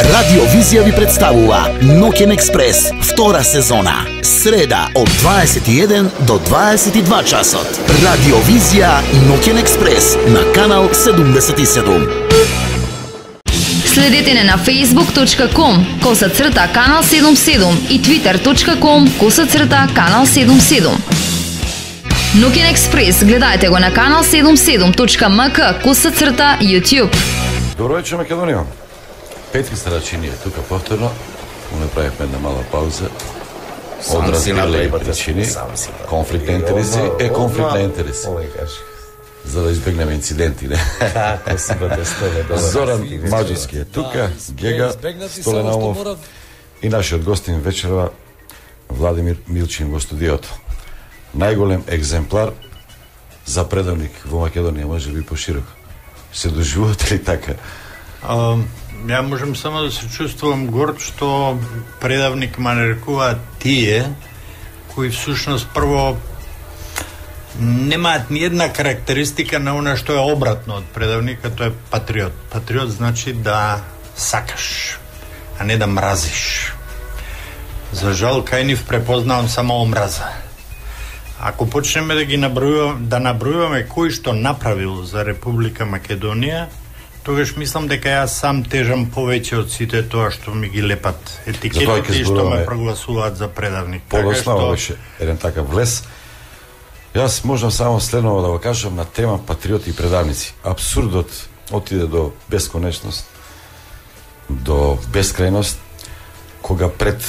Радио Визија ви представува Ноќен експрес, втора сезона. Среда од 21 до 22 часот. Радио Визија Ноќен експрес на канал 77. Следете не на facebook.com/канал 77 и twitter.com/канал 77. Ноќен експрес гледајте го на канал 77.mk/YouTube. Добро вечер, Македонија. Петки Старачини е тука повторно. Направивме една мала пауза. Од разбирливи причини. Конфликт на интереси е конфликт на интереси. За да избегнеме инциденти, не? Така, си бъде столе. Зоран Маджевски е тука, Гега Столенаумов и нашиот гостин вечерва Владимир Милчин во студиото. Најголем екземплар за предавник во Македонија, може би пошироко. Се доживувате ли така? Ја можам само да се чувствувам горд што предавник ме нарекуваат тие кои всушност прво немаат ни една карактеристика на она што е обратно од предавника, тоа е патриот. Патриот значи да сакаш, а не да мразиш. За жал, кај нив препознавам само омраза. Ако почнеме да ги набројуваме кој што направил за Република Македонија, тогаш мислам дека јас сам тежам повеќе од сите тоа што ми ги лепат етикетите и што ме прогласуваат за предавник. Подоснава беше еден такав влез. Јас можам само следново да го кажам на тема патриоти и предавници. Абсурдот отиде до бесконечност, до бескрајност, кога пред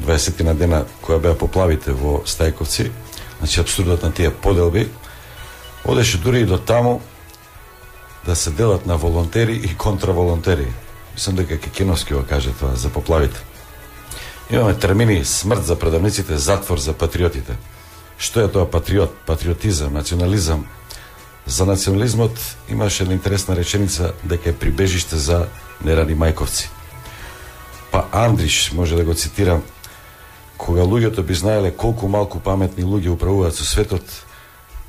20 на дена која беа поплавите во Стајковци, значи абсурдот на тие поделби, одеше дури и до таму да се делат на волонтери и контраволонтери. Мислам дека Кекиновски го каже тоа за поплавите. Имаме термини смрт за предавниците, затвор за патриотите. Што е тоа патриот, патриотизам, национализам? За национализмот имаше една интересна реченица дека е прибежиште за нерани мајковци. Па Андриш, може да го цитирам, кога луѓето би знаеле колку малку паметни луѓе управуваат со светот,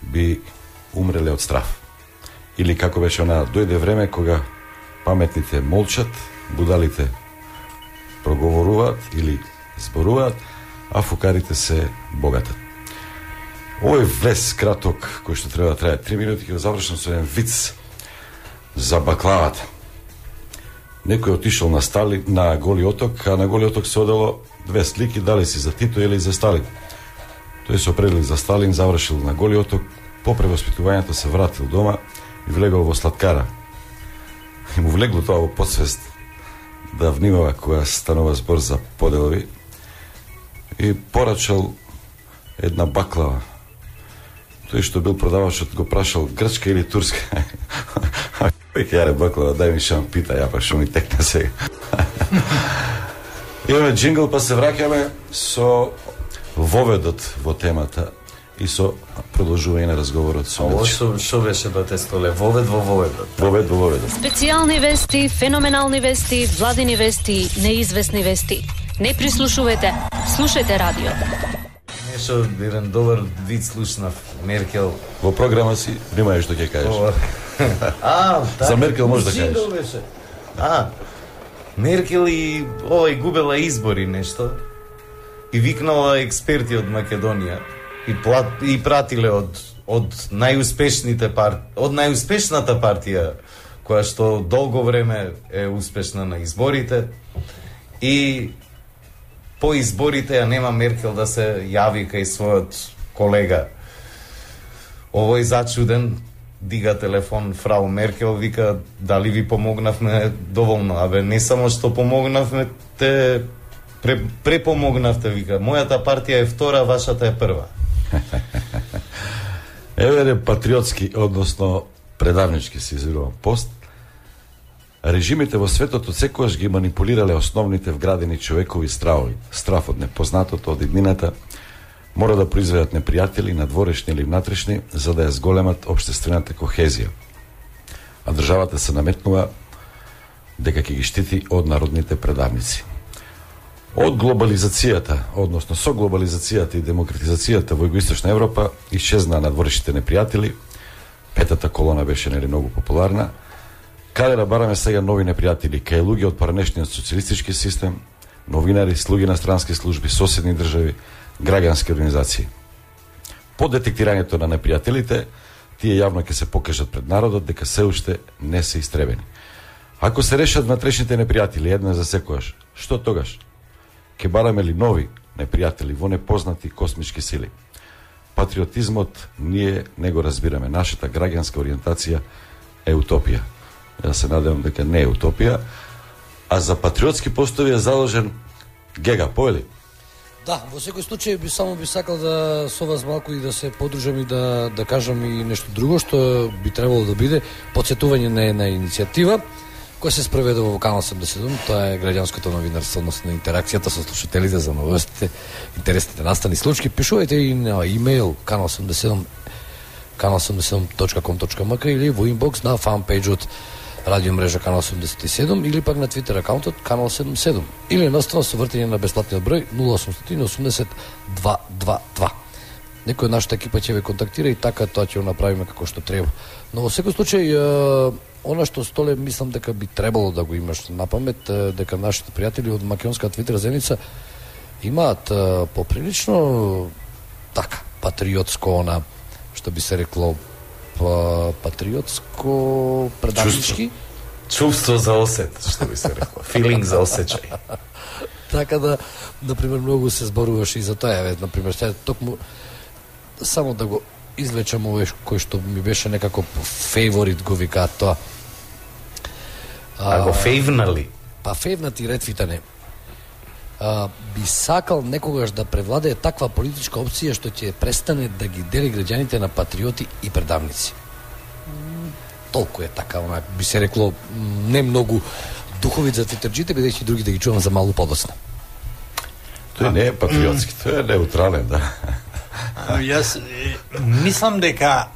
би умреле од страв. Или како беше она, дојде време кога паметните молчат, будалите проговоруваат или зборуваат, а фукарите се богатат. Овој влез краток, кој што треба да трае 3 минути, ќе го завршам со еден виц за баклавата. Некој отишол на Голи оток, а на Голи оток се одело две слики, дали си за Тито или за Сталин. Тој се определил за Сталин, завршил на Голи оток, по превоспитувањето се вратил дома и влегол во сладкара. И му влегло тоа во подсвест да внимава кога станува збор за поделби и порачал една баклава. Тој што бил продавачот го прашал грчка или турска. Веќе јаре баклава, дај ми шам пита, ја па шо ми текна сега. Имаме джингл, па се враќаме со воведот во темата и со продолжување на разговорот со Милчо. Ово шо беше бате столе? Вовед во воведот. Вовед во воведот. Специјални вести, феноменални вести, владини вести, неизвестни вести. Не прислушувате, слушајте радио. Нешто еден добар вид слушнав. Меркел Во програма си внимај што ќе кажеш. За Меркел може да кажеш. Меркел и губела избори нешто и викнала експерти од Македонија и пратиле од најуспешната партија која што долго време е успешна на изборите и по изборите ја нема Меркел да се јави кај својот колега. Овој зачуден дига телефон фрау Меркел, вика дали ви помогнавме доволно. Абе не само што помогнавме, те препомогнавте, вика. Мојата партија е втора, вашата е прва. Еве патриотски, односно предавнички се изразувам пост. Режимите во светот отсекогаш ги манипулирале основните вградени човекови стравови. Страв од непознатото, од иднината, мора да произведат непријатели, надворешни или внатрешни, за да ја зголемат општествената кохезија. А државата се наметнува дека ќе ги штити од народните предавници. Од глобализацијата, односно со глобализацијата и демократизацијата во Југоисточна Европа, исчезнаа надворешните непријатели, петата колона беше нели многу популарна, Каде да бараме сега нови непријатели? Кај луѓе од поранешниот социјалистички систем, новинари, слуги на странски служби, соседни држави, граѓански организации. По детектирањето на непријателите, тие јавно ќе се покажат пред народот дека се уште не се истребени. Ако се решат внатрешните непријатели една за секојаш, што тогаш? Ке бараме ли нови непријатели во непознати космички сили? Патриотизмот ние не го разбираме. Нашата граѓанска ориентација е утопија. Ја се надевам дека не е утопија, а за патриотски постови е заложен Гега, поели? Да, во секој случај би сакал да со вас малку и да се подружам и да кажам и нешто друго што би требало да биде потсетување на една иницијатива која се спроведува во Канал 77, тоа е граѓанското новинарство, односно интеракцијата со слушателите за новостите, интересните настани случаи. Пишувајте и на имејл kanal87.com.mk или во инбокс на фанпејџот радио мрежа Канал 87 или пак на Твитер акаунтот Канал 77 или едноставно со вртење на бесплатниот број 0880 222. Некој од нашата екипа ќе ве контактира и така тоа ќе го направиме како што треба. Но во секој случај она што Столе мислам дека би требало да го имаш на памет, дека нашите пријатели од македонска Твитер заедница имаат поприлично така патриотско што би се рекло патриотско предавнички чувство за осет, што би се рекло, филинг за осеќај. Така да, например, многу се зборуваше и за тоа, например, токму само да го извлечам овој кој што ми беше некако фейворит, го викаат тоа. А го фейвнали? Па фейвнати ретвитане. Би сакал некогаш да превладее таква политичка опција што ќе престане да ги дели граѓаните на патриоти и предавници. Толку е така, би се рекло, не многу духовит за твитерџите, бидејќи други да ги чувам за малку подоцна. Тој не е патриотски, тој е неутрален, да. Јас мислам дека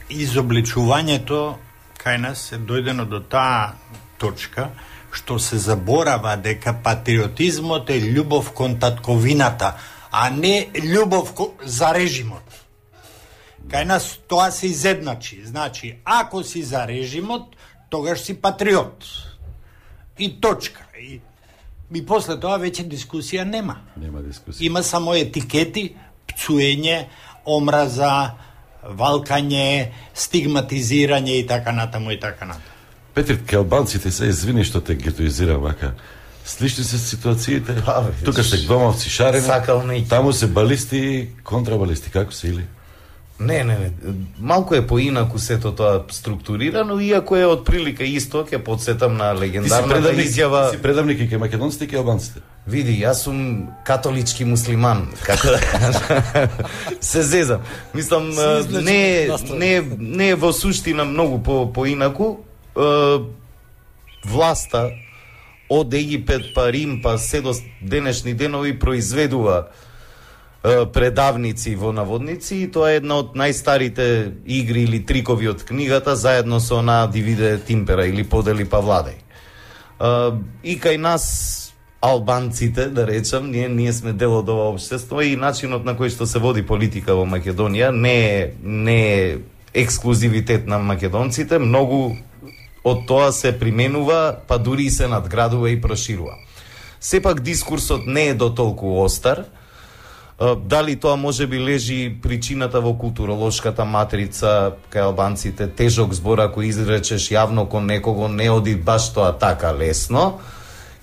изобличувањето кај нас е дојдено до таа точка што се заборава дека патриотизмот е љубов кон татковината, а не љубов за режимот. Кај нас тоа се изедначи. Значи, ако си за режимот, тогаш си патриот. И точка. И после тоа веќе дискусија нема. Нема дискусија. Има само етикети, пцуење, омраза, валкање, стигматизирање и така натаму и така натаму. Петри, ке албанците се извини што те гетоизирам вака. Слични се ситуациите. Тука се гвамовци шарени, таму се балисти и контрабалисти. Како се или? Не. Малку е поинаку сето тоа структурирано, иако е од прилика исто, ќе подсетам на легендарната изјава. Ти си предавник и ке македонците и ке албанците. Види, јас сум католички муслиман, како да се зезам. Мислам, не е во суштина многу поинаку. Власта од Египет па Рим па се до денешни денови произведува предавници во наводници и тоа е една од најстарите игри или трикови од книгата заедно со она дивиде тимпера или подели па владај. И кај нас албанците, да речам, ние сме дел од ова општество и начинот на кој што се води политика во Македонија не е ексклузивитет на македонците, многу од тоа се применува, па дури се надградува и проширува. Сепак дискурсот не е до толку остар. Дали тоа може би лежи причината во културолошката матрица кај албанците, тежок збор ако изречеш јавно кон некого не оди баш тоа така лесно.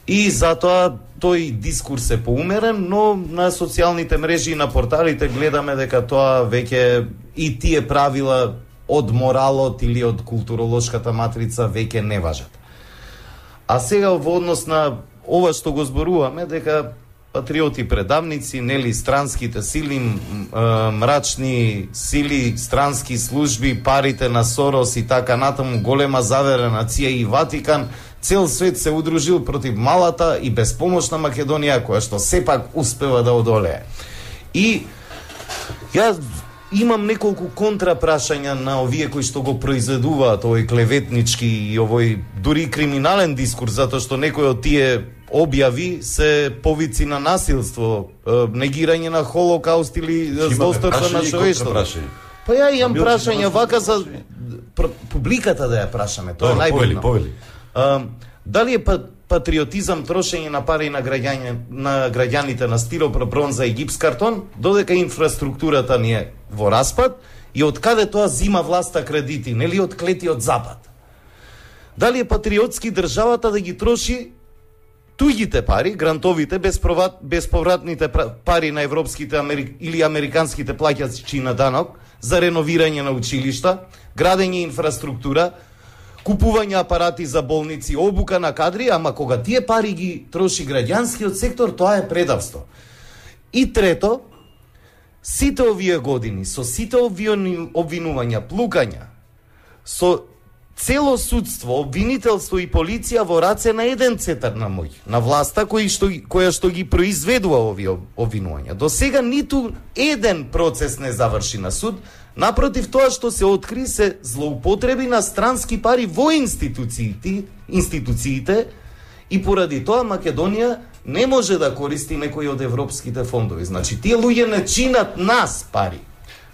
И затоа тој дискурс е поумерен, но на социјалните мрежи и на порталите гледаме дека тоа веќе и тие правила од моралот или од културолошката матрица веќе не важат. А сега во однос на ова што го зборуваме, дека патриоти предавници, нели странските сили, мрачни сили, странски служби, парите на Сорос и така натаму, голема завера нација и Ватикан, цел свет се удружил против малата и безпомошна Македонија, која што сепак успева да одолее. И ја имам неколку контрапрашања на овие кои што го произведуваат овој клеветнички и овој дури криминален дискурс, затоа што некои од тие објави се повици на насилство, негирање на Холокауст или злосторство на човештвото. Па ја имам прашања вака за публиката да ја прашаме, тоа е најбитно. Дали е патриотизам трошење на пари на граѓаните на стилопро, бронза и гипс картон, додека инфраструктурата ни е во распад и од каде тоа зима власта кредити, нели од клетиот запад? Дали е патриотски државата да ги троши туѓите пари, грантовите, безповратните пари на европските или американските плаќачи на данок за реновирање на училишта, градење инфраструктура, купување апарати за болници, обука на кадри, ама кога тие пари ги троши граѓанскиот сектор, тоа е предавство. И трето, сите овие години, со сите овие обвинувања, плукања, со цело судство, обвинителство и полиција во раце на еден цетар на мој, на власта која што ги произведува овие обвинувања. До сега ниту еден процес не заврши на суд, напротив, тоа што се откри се злоупотреби на странски пари во институциите и поради тоа Македонија не може да користи некои од европските фондови. Значи, тие луѓе не чинат нас пари.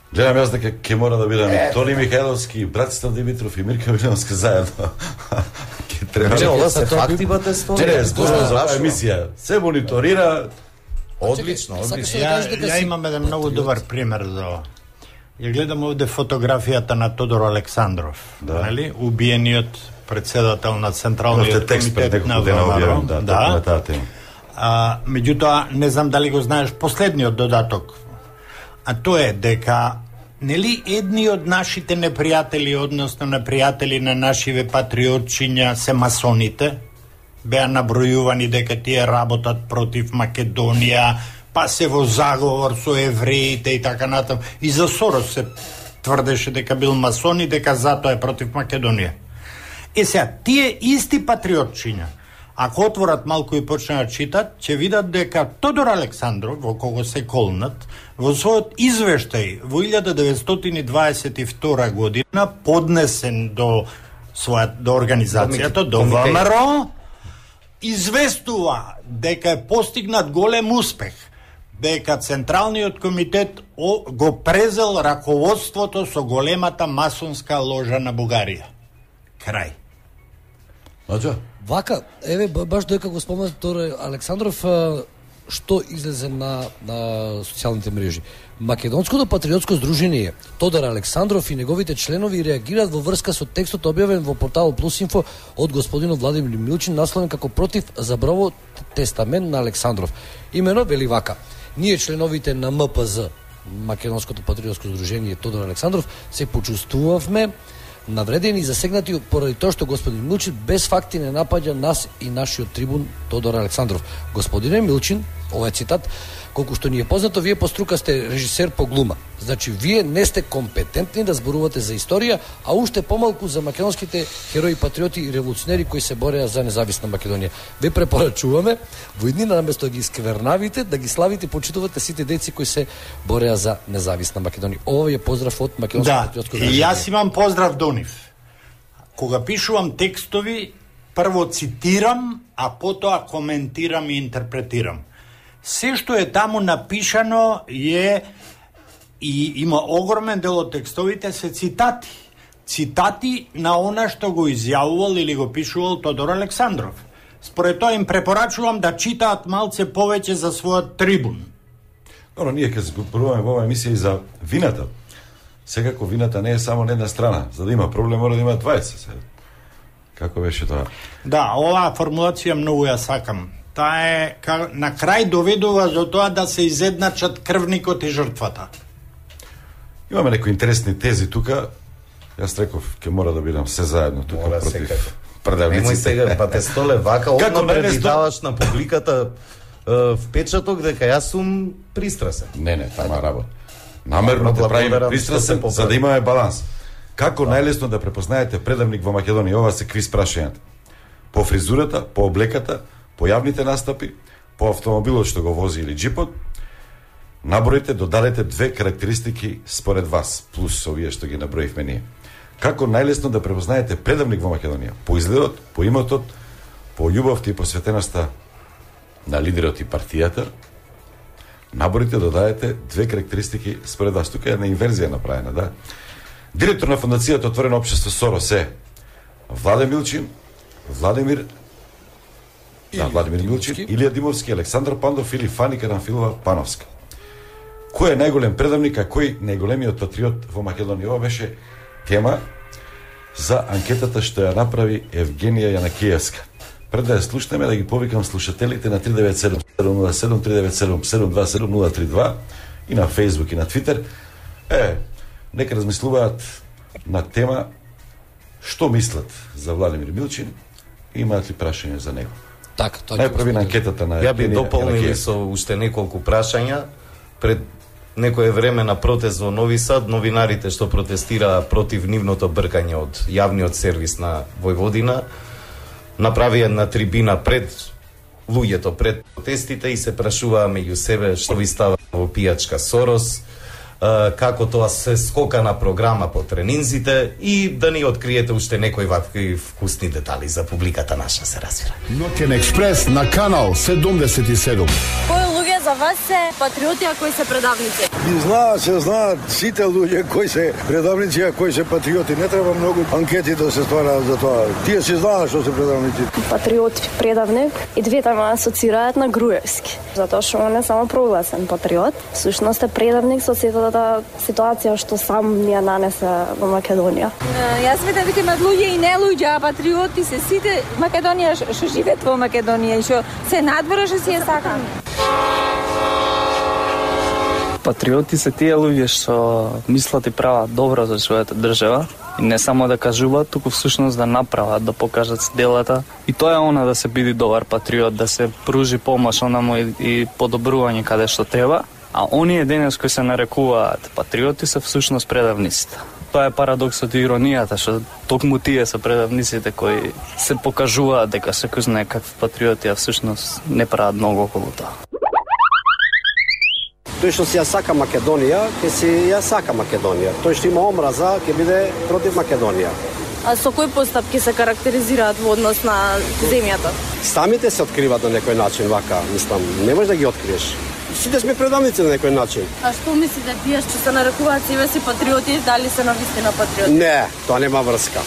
Гледам јас дека ќе мора да бидам и Тони Михајловски, Братислав Димитров и Мирка Вилјановска заедно. Ќе треба. Ова се факти, бате, Не, зборувам за оваа емисија. Се мониторира. Одлично. Ја имам еден многу добар пример за ова. Ја гледам овде фотографијата на Тодор Александров, нели? Убиениот председател на Централниот комитет на ВМРО. Да. Меѓутоа, не знам дали го знаеш последниот додаток. А тоа е дека нели едни од нашите непријатели, односно непријатели на нашиве патриотчиња се масоните, беа набројувани дека тие работат против Македонија, па се во заговор со евреите и така натаму. И за Сорос се тврдеше дека бил масон и дека затоа е против Македонија. Сега, тие исти патриотчиња, ако отворат малку и почнат да читат, ќе видат дека Тодор Александров, во кого се колнат, во својот извештај во 1922 година, поднесен до организацијата, до ВМРО, известува дека е постигнат голем успех, дека Централниот комитет го презел раководството со големата масонска ложа на Бугарија. Крај. Вака, еве, баш дека го спомнат Тодор Александров, што излезе на социјалните мрежи. Македонското патриотско здружение Тодор Александров и неговите членови реагираат во врска со текстот објавен во портал Плюсинфо од господинот Владимир Милчин, насловен како против забравот тестамент на Александров. Имено вели вака: ние членовите на МПЗ, Македонското патриотско здружение Тодор Александров, се почувствувавме навредени и засегнати поради тоа што господин Милчин без факти не напаѓа нас и нашиот трибун Тодор Александров. Господине Милчин, ова е цитат, колку што ни е познато, вие по струка сте режисер по глума. Значи, вие не сте компетентни да зборувате за историја, а уште помалку за македонските херои, патриоти и револуционери кои се бореа за независна Македонија. Ве препорачуваме во иднина наместо да ги сквернавите, да ги славите и почитувате сите деци кои се бореа за независна Македонија. Ова е поздрав од Македонското патриотско здружение. Да, јас имам поздрав до нив. Кога пишувам текстови, прво цитирам, а потоа коментирам и интерпретирам. Се што е таму напишано и има огромен дел од текстовите се цитати. Цитати на она што го изјавувал или го пишувал Тодор Александров. Според тоа им препорачувам да читаат малце повеќе за својот трибун. Но ние ќе зборуваме во оваа емисија и за вината. Секако вината не е само на една страна. За да има проблем мора да има двајца. Како беше тоа? Да, оваа формулација многу ја сакам. Таа е на крај доведува до тоа да се изедначат крвникот и жртвата. Имаме некои интересни тези тука. Јас реков ќе мора да бидам се заедно тука против предавниците. Немој сега, па те столе вака, одно предвидаваш на публиката впечаток дека јас сум пристрасен. Не, тама работа. Намерно да правиме пристрасен за да имаме баланс. Како најлесно да препознаете предавник во Македонија? Ова се квиз прашањата. По фризурата, по облеката, по јавните настапи, по автомобилот што го вози или джипот, наброите, додадете две карактеристики според вас, плюс овие што ги наброивме ние. Како најлесно да препознаете предавник во Македонија? По изгледот, по имотот, по љубовта и посветеноста на лидерот и партијата, наборите, додадете две карактеристики според вас. Тука е една инверзија направена, да. Директор на фондацијата Отворено општество Сорос е Владе Милчин, Владимир Милчин, Илија Димовски, Александар Пандов или Фани Карамфилова Пановска. Кој е најголем предавник, а кој најголемиот патриот во Македонија? Ова беше тема за анкетата што ја направи Евгенија Јанакиевска. Пред да ја слушнеме, да ги повикам слушателите на 397 707 397 727 032 и на Facebook и на Twitter. Нека размислуваат на тема што мислат за Владимир Милчин и имаат ли прашање за него. Така, тоа најпрви на анкетата на Ја би дополнил со уште неколку прашања. Пред некое време на протест во Нови Сад, новинарите што протестираа против нивното бркање од јавниот сервис на Војводина направи една трибина пред луѓето, пред протестите и се прашуваа меѓу себе што ви става во пијачка Сорос, како тоа се скока на програма по тренинзите и да ни откриете уште некои вакви вкусни детали за публиката наша, се разбира. Нокен експрес на канал 77. Кои луѓе за вас се патриоти, а кои се предавници? Се знаат сите луѓе кои се предавници, а кои се патриоти. Не треба многу анкети да се ствараат за тоа. Тие се знаат што се предавници. Патриот, предавник и двете ме асоцираат на Груевски. Затоа што он е само прогласен патриот. Всушност е предавник со сетата ситуација што сам ни ја нанесе во Македонија. Јас видам дека имаат луѓе и не луѓе, а патриоти се сите Македонија што живеат во Македонија и што се надвора што си ја сакам. Патриоти се тие луѓе што мислат и прават добро за својата држава и не само да кажуваат, туку всушност да направат, да покажат с делата. И тоа е она да се биде добар патриот, да се пружи помош онаму и подобрување каде што треба. А оние денес кои се нарекуваат патриоти се всушност предавниците. Тоа е парадоксот и иронијата, што токму тие се предавниците кои се покажуваат дека секој знае какви патриоти, а всушност не прават многу околу тоа. Тој што си ја сака Македонија, ќе си ја сака Македонија. Тој што има омраза, ќе биде против Македонија. А со кои постапки се карактеризираат во однос на земјата? Самите се откриваат на некој начин вака, мислам, не можеш да ги откриеш. Сите сме предавници на некој начин. А што мислите, тие што се нарекуваат себе си патриоти, дали се навистина патриоти? Не, тоа нема врска.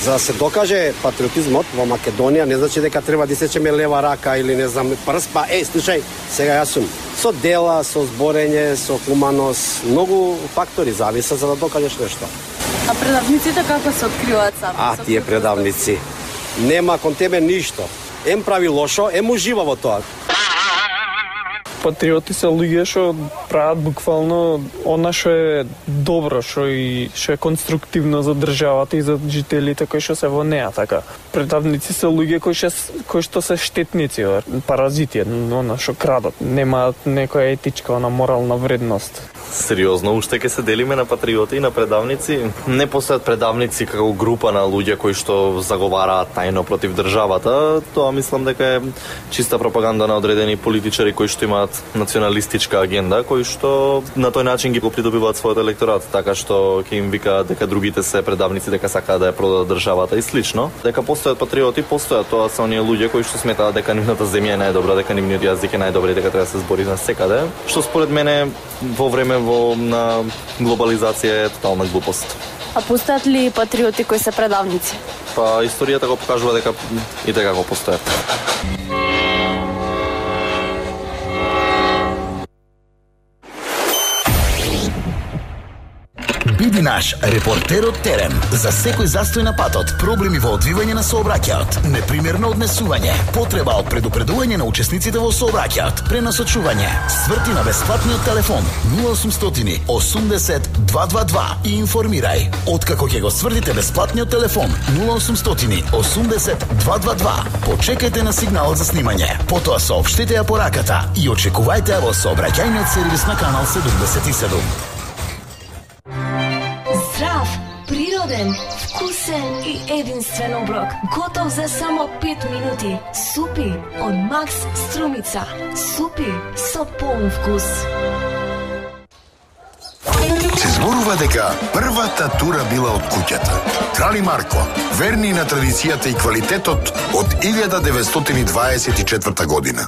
За да се докаже патриотизмот во Македонија, не значи дека треба да сечеме лева рака или не знам прст, па слушај, сега јас сум со дела, со зборење, со хуманост, многу фактори зависат за да докажеш нешто. А предавниците како се откриваат сами? Тие предавници. Нема кон тебе ништо. Ем прави лошо, ем ужива во тоа. Патриоти се луѓе што прават буквално она што е добро, што е конструктивно за државата и за жителите кои што се во неа, така. Предавници се луѓе кои што се штетници, паразити, она што крадат, немаат некоја етичка, она морална вредност. Сериозно, уште ќе се делиме на патриоти и на предавници. Не постојат предавници како група на луѓе кои што заговараат тајно против државата. Тоа мислам дека е чиста пропаганда на одредени политичари кои што имаат националистичка агенда, кои што на тој начин ги придобиваат својот електорат, така што ќе им викаат дека другите се предавници, дека сакаат да ја продадат државата и слично. Дека постојат патриоти, постојат, тоа се оние луѓе кои што сметаат дека нивната земја е најдобра, дека нивниот јазик е најдобар и дека треба да се збори на секаде, што според мене во време на глобализација е тотална глупост. А постојат ли патриоти кои се предавници? Па историјата го покажува дека и дека го постојат. Биди наш репортер од терен за секој застој на патот, проблеми во одвивање на сообраќајот, непримерно однесување, потреба од предупредување на учесниците во сообраќајот, пренасочување, сврти на бесплатниот телефон 0800 80 222 и информирај. Откако ќе го свртите бесплатниот телефон 0800 80 222, почекајте на сигналот за снимање, потоа соопштете ја пораката и очекувајте ја во сообраќајниот сервис на канал 77. Здрав, природен, вкусен и единствен оброк. Готов за само 5 минути. Супи од Макс Струмица. Супи со полн вкус. Се зборува дека првата тура била од куќата. Крали Марко, верни на традицијата и квалитетот од 1924 година.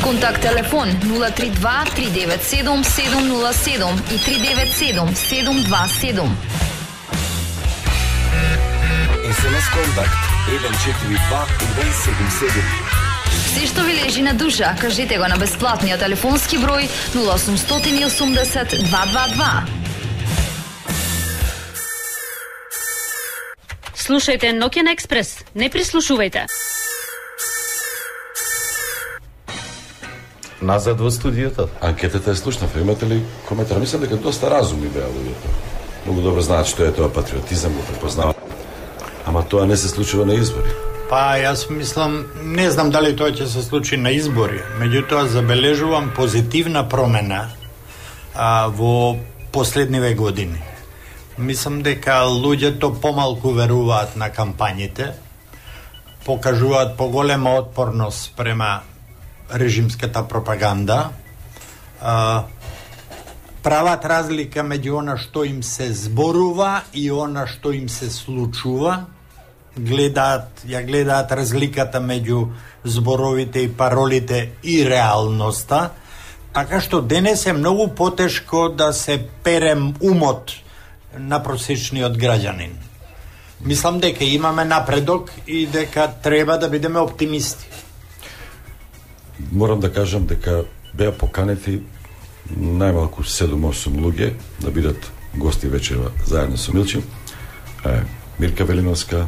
Контакт телефон 032 397 707 и 397 727. SMS контакт 142 177. Се што ви лежи на душа, кажете го на бесплатниот телефонски број 0880 222. Слушајте Нокен Експрес, не прислушувајте. Назад во студиото. Анкетата е слушнав. Имате ли коментар? Мислам дека доста разумни беа луѓето. Многу добро знаат што е тоа патриотизам, го препознаваат. Ама тоа не се случува на избори. Па, јас мислам, не знам дали тоа ќе се случи на избори, меѓутоа забележувам позитивна промена во последниве години. Мислам дека луѓето помалку веруваат на кампањите, покажуваат поголема отпорност према режимската пропаганда, прават разлика меѓу она што им се зборува и она што им се случува, гледаат разликата меѓу зборовите и паролите и реалноста, така што денес е многу потешко да се перем умот на просечниот граѓанин. Мислам дека имаме напредок и дека треба да бидеме оптимисти. Морам да кажам дека беа поканети најмалку 7-8 луѓе да бидат гости вечерва заедно со Милчев. Мирка Велиновска,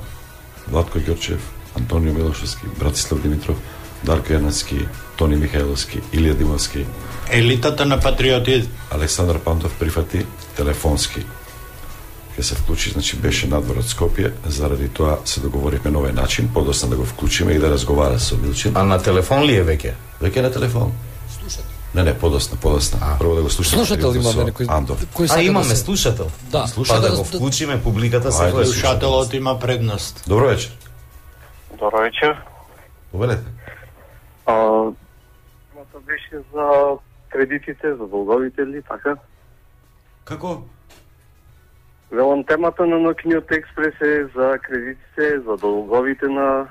Владко Ѓорчев, Антонио Милошевски, Братислав Димитров, Дарко Јанаски, Тони Михајловски, Илија Димовски. Елитата на патриотизм. Александар Пантов прифати телефонски. Ке се вклучи, значи беше надвор од Скопје, заради тоа се договоривме на овој начин, подоцна да го вклучиме и да разговара со Милчев. А на телефон ли е веќе? Веќе на телефон. Слушател. Не, подоцна. Прво да го слушаме. Слушател имаме некој. Имаме слушател. Да. Па да го вклучиме, публиката се гледа. Слушателот има предност. Добро вечер. Добро вечер. Повелете. Темата беше за кредитите, за долговите ли, така? Како? Велам, темата на Нокиниот Експрес е за кредитите, за долговите на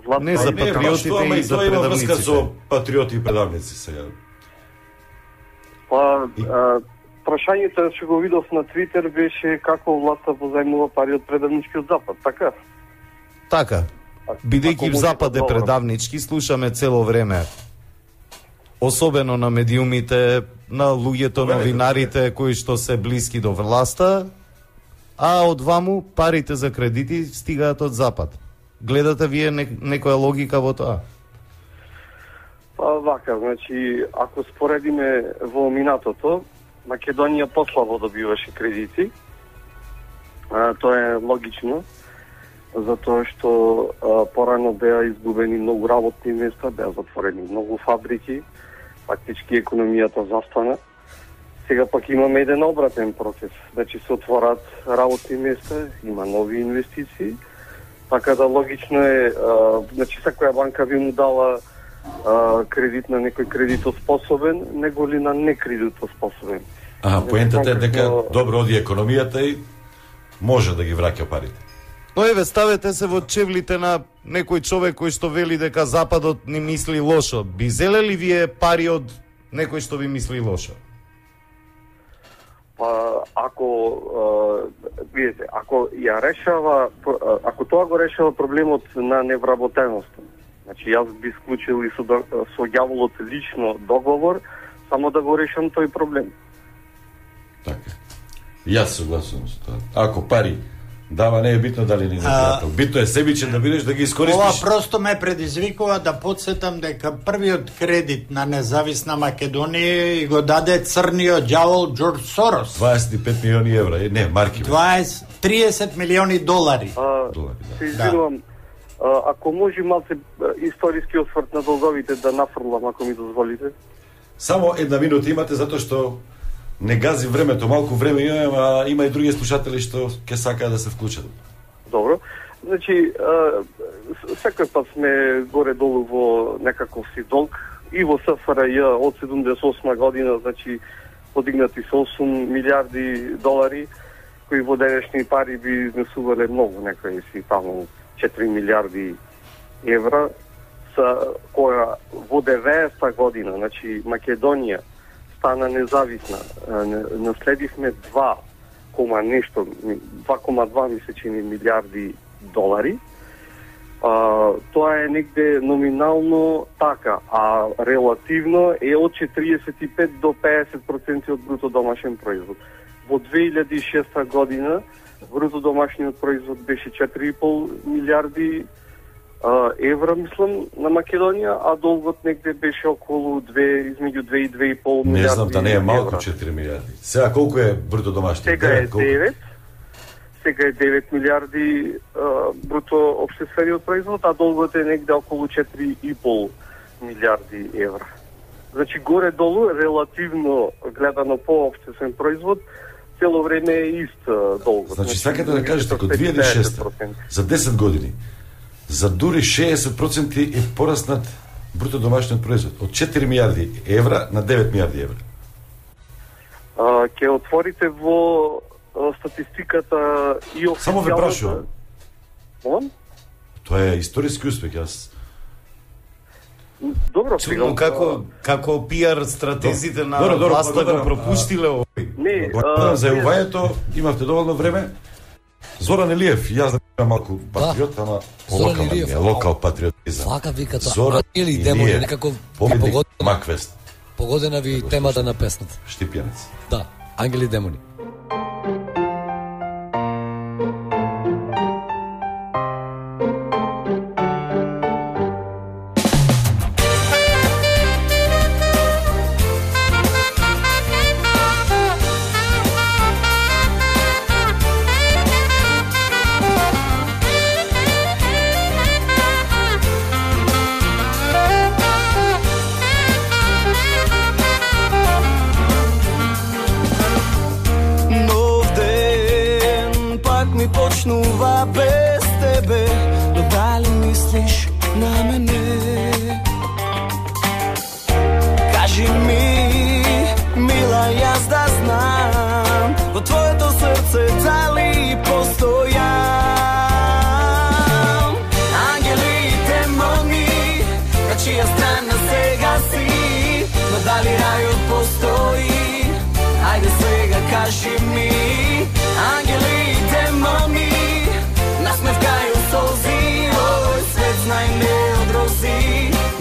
власт. Не, за патриотите и за предавниците. Тоа има врска со патриоти и предавници сега. Па, прашањето што го видов на Твитер беше како власта позајмува пари од предавничкиот Запад, така? Така. Бидејќи Запад е предавнички, слушаме цело време. Особено на медиумите, на луѓето, новинарите кои што се блиски до власта, а од ваму парите за кредити стигаат од Запад. Гледате вие некоја логика во тоа? Па вака, значи, ако споредиме во минатото, Македонија послабо добиваше кредити. Тоа е логично, затоа што порано беа изгубени многу работни места, беа затворени многу фабрики, фактички економијата застана. Сега пак имаме еден обратен процес, значи се отворат работни места, има нови инвестиции, така да логично е, значи секоја банка би му дала кредит на некој кредитоспособен, него ли на некредитоспособен. Поентата е дека добро оди економијата и може да ги враќа парите. Но еве, ставете се во чевлите на некој човек кој што вели дека Западот ни мисли лошо. Би зелели вие пари од некој што ви мисли лошо? Видите, ако ја решава, ако тоа го решава проблемот на невработеноста, значи јас би склучил и со ѓаволот лично договор, само да го решам тој проблем. Така. Јас согласувам со тоа. Ако пари дава, не е битно дали ни пријател. Битно е себичен да бидеш, да ги искористиш. Ова просто ме предизвикува да подсетам дека првиот кредит на независна Македонија и го даде црниот ѓавол Џорџ Сорос. 25 милиони евра, не, марки. 30 милиони долари. Се извинувам, ако може малце историски осврт на долговите да нафрлам, ако ми дозволите. Само една минута имате, затоа што не гази времето, малку време имаме, а има и други слушатели што ќе сакаат да се вклучат. Добро. Значи, секој пат сме горе-долу во некаков си долг и во СФРЈ од 78 година, значи, подигнати со 8 милиарди долари, кои во денешни пари би изнесувале многу, некои си таму 4 милиарди евра, која во 90-та година, значи, Македонија стана независна. Наследивме 2,2 мисле чини милиарди долари. Тоа е негде номинално така, а релативно е од 45 до 50% од бруто домашен производ. Во 2006 година бруто домашниот производ беше 4,5 милиарди евра, мислам, на Македонија, а долгот негде беше околу измеѓу 2 и 2,5 милиарди. Не знам, да не е малку 4 милиарди. Сега колку е бруто домашниот? Сега е 9. Сега е 9 милиарди бруто општествениот производ, а долгот е негде околу 4,5 милиарди евра. Значи, горе-долу, релативно гледано по општествен производ, цело време е ист долгот. Значи, сакате да кажете, ако 2006 за 10 години, за дури 60% е пораснат бруто домашниот производ од 4 милиарди евра на 9 милиарди евра. Ке отворите во статистиката и официјалната... Само ве прашувам. Молам? Тоа е историски успех, јас... Добро, чудно како пиар стратезите на власта го пропуштиле овој. Не, за јувањето имавте доволно време. Зоран Илиев, јас да бидам малку патриот, ама локал патриотизам. Вака виката, Зоран или демони, некако погодена ви темата на песната. Штипјанец. Да, ангели и демони. Почнува без тебе, но дали мислиш на мене? Кажи ми, мила, јас да знам, во твоето срце дали постојам? Ангели и демони, на чија страна сега си, но дали рајот постои? Ајде сега кажи ми, ангели и демони, насмевкају солзи, овој свет знај не одрози,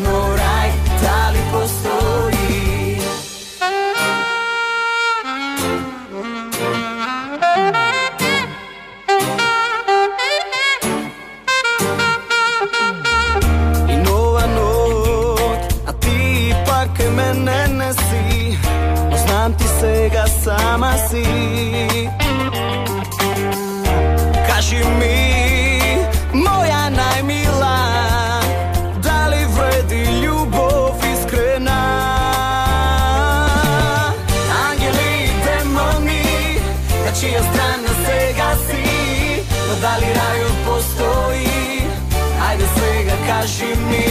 но рај дали постои? И нова нот, а ти пак мене не си, но знам ти сега сама си. Кажи ми, моја најмила, дали вреди љубов искрена? Ангели и демони, на чија страна сега си, но дали рајот постои? Ајде сега кажи ми,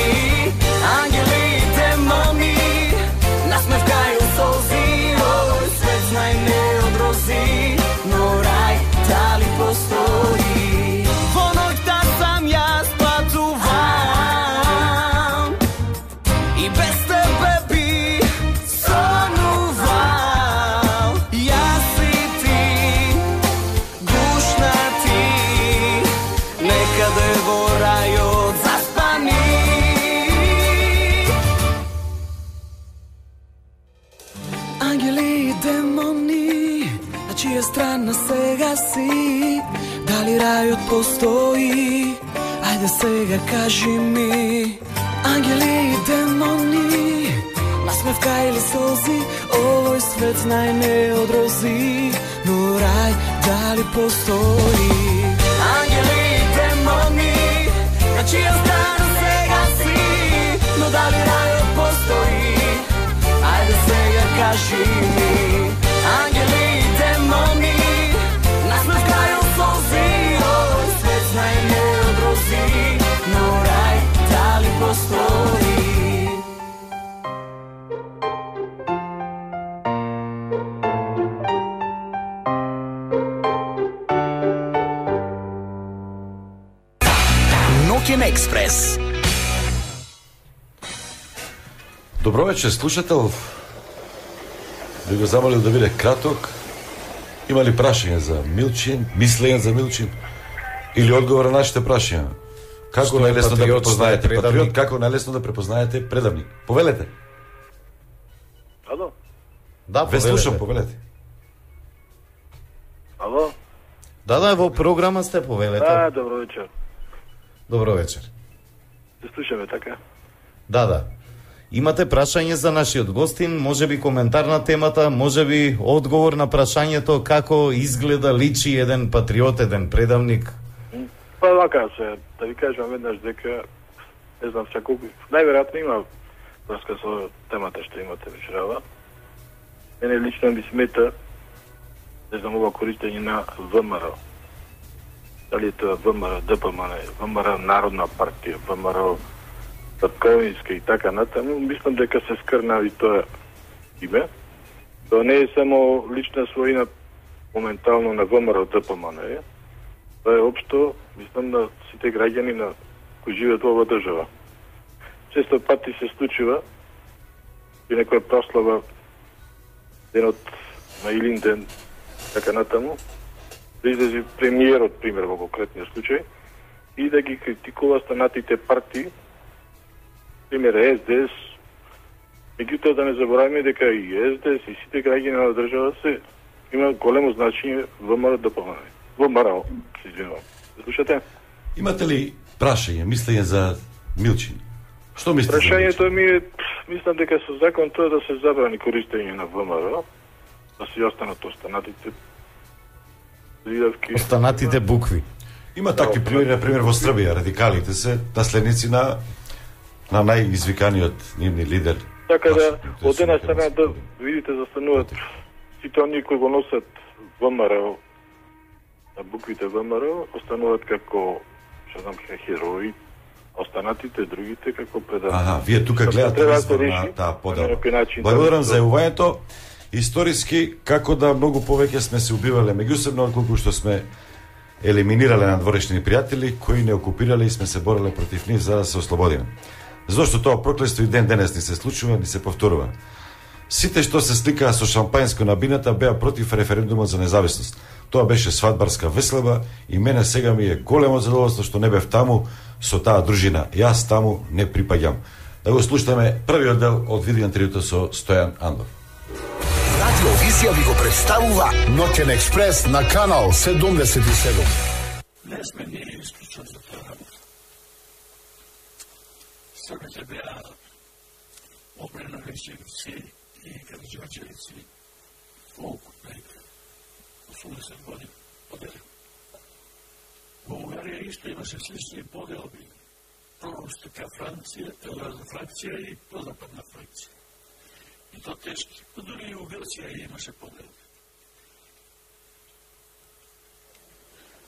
ангели и демони, насмевкају солзи, овој свет знај не одрози, но рај дали постои? Во ноќта сам јас патувам и без тебе би сонувал. Јас и ти, гушна ти, некаде во рајот заспани. Ангели и демони, на чија страна сега си, дали рајот постои? Ајде сега кажи ми, ангели и демони, насмевка или солзи, овој свет знај не одрози, но рај дали постои? Ангели и демони, на чија страна сега си, но дали рајот постои? Ајде сега кажи ми, ангели и демони, насмевкају солзи, овој свет знај не одрози, но рај дали постои? Ноќен експрес. Добро вечер, слушател. Би го замолил да биде краток. Има ли прашање за Милчин, мислење за Милчин? Или одговор на нашите прашања. Како најлесно да препознаете патриот, како најлесно да препознаете предавник? Повелете. Ало? Да, ве слушам, повелете. Ало? Да, во програма сте, повелете. Добро вечер. Добро вечер. Се слушаме, така? Да. Имате прашање за нашиот гостин, можеби коментар на темата, можеби одговор на прашањето како изгледа, личи еден патриот, еден предавник? Па вака се, да ви кажам веднаш дека, не знам се колку, најверојатно има врска со темата што имате вечерава. Мене лично ми смета, не знам, ова користење на ВМРО. Дали е тоа ВМРО, ДПМН, ВМРО Народна партија, ВМРО Татковинска и така натаму, мислам дека се скрнави тоа име. Тоа не е само лична својина моментално на ВМРО ДПМН, тоа е општо, мислам, на сите граѓани на кои живеат во оваа држава. Често пати се случува и некоја прослава денот на Илинден, така натаму, да излези премиерот, пример, во конкретниот случај, и да ги критикува останатите партии, пример СДС, меѓутоа да не забораваме дека и СДС и сите граѓани на држава се има големо значење ВМРО ДПМН. ВМРО, се извинувам. Слушате? Имате ли прашање, мислење за Милчин? Што мислите? Прашањето ми е, мислам дека со закон тоа да се забрани користење на ВМРО, да се останат останатите зидавки. Останатите букви. Има такви примери, например во Србија, радикалите се наследници на најизвиканиот нивни лидер. Така да, од една страна да видите застануваат сите оние кои го носат ВМРО, на буквите ВМРО, остануваат како, што знам, како херои, останатите, другите како предавници. Вие тука гледате избор на таа подела. Благодарам за јавувањето. Историски, како да многу повеќе сме се убивале меѓусебно, колку што сме елиминирале надворешни пријатели кои не окупирале и сме се бореле против нив за да се ослободиме. Зошто тоа проклество и ден денес ни се случува, ни се повторува. Сите што се сликаа со шампањско на бината беа против референдумот за независност. Тоа беше свадбарска веселба и мене сега ми е големо задоволство што не бев таму со таа дружина. Јас таму не припаѓам. Да го слушаме првиот дел од видео интервјуто со Стојан Андов. Радиовизија ви го представува Ноќен експрес на канал 77. Не сме ние исклучени за тоа работа. Србите беа обреновичевици и караđорđевици колку, 80 години подели. Во Унгарија исто имаше слични поделби. Прорустика фракција и прозападна фракција. И то тешки. Дори и у Грција имаше поделби.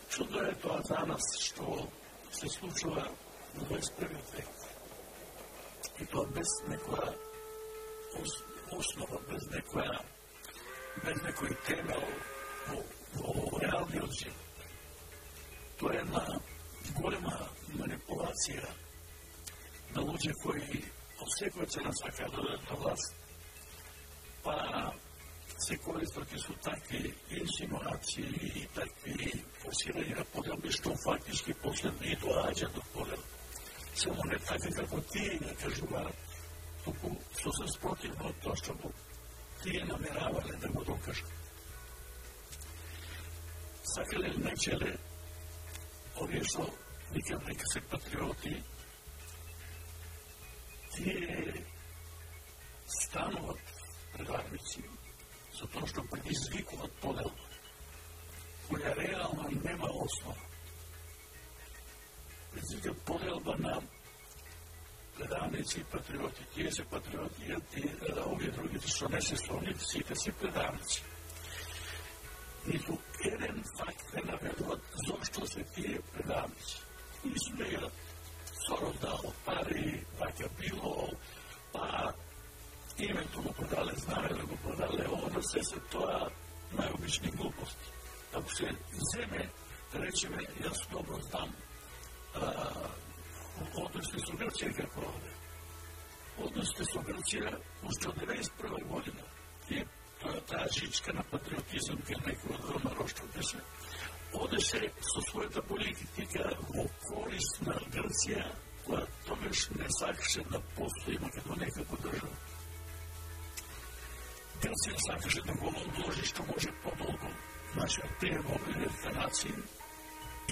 Чудо е тоа за нас што се случува во 21 век. И тоа без некоја основа, без некој темел во реалниот живот. Тоа е една голема манипулација на луѓе кои од секоја цена сакаат да додат на власт, па се користат и со такви инсинуации и такви форсирања на поделби, што фактички после не доаѓа до подел. Само не така како тие ја кажуваат, туку сосем спротивно од тоа што тие намеравале да го докажат. Сакале или нечеле, овие што викам дека се патриоти, тие стануваат предавници со тоа што предизвикуваат поделба, која реално нема основа. Предизвикуваат поделба на предавници и патриоти. Тие се патриоти, а овие другите што не се слонит, сите се предавници. Ниту еден факт не наведуваат зошто се тие предавници. Измејат Сорос дал пари, вака било, па името го продале, знаме да го продале, оно се тоа најобични глупости. Ако се земе, да речеме, јас добро знам, односите со Грција како овде. Односите со Грција уште од 1991 година. И таа жичка на патриотизам кај некој од ВМРО што беше одеше со својата политика во корист на Грција, која тогаш не сакаше да постои Македонија како држава. Грција сакаше да го одложи што може подолго нашиот прием во Обединетите нации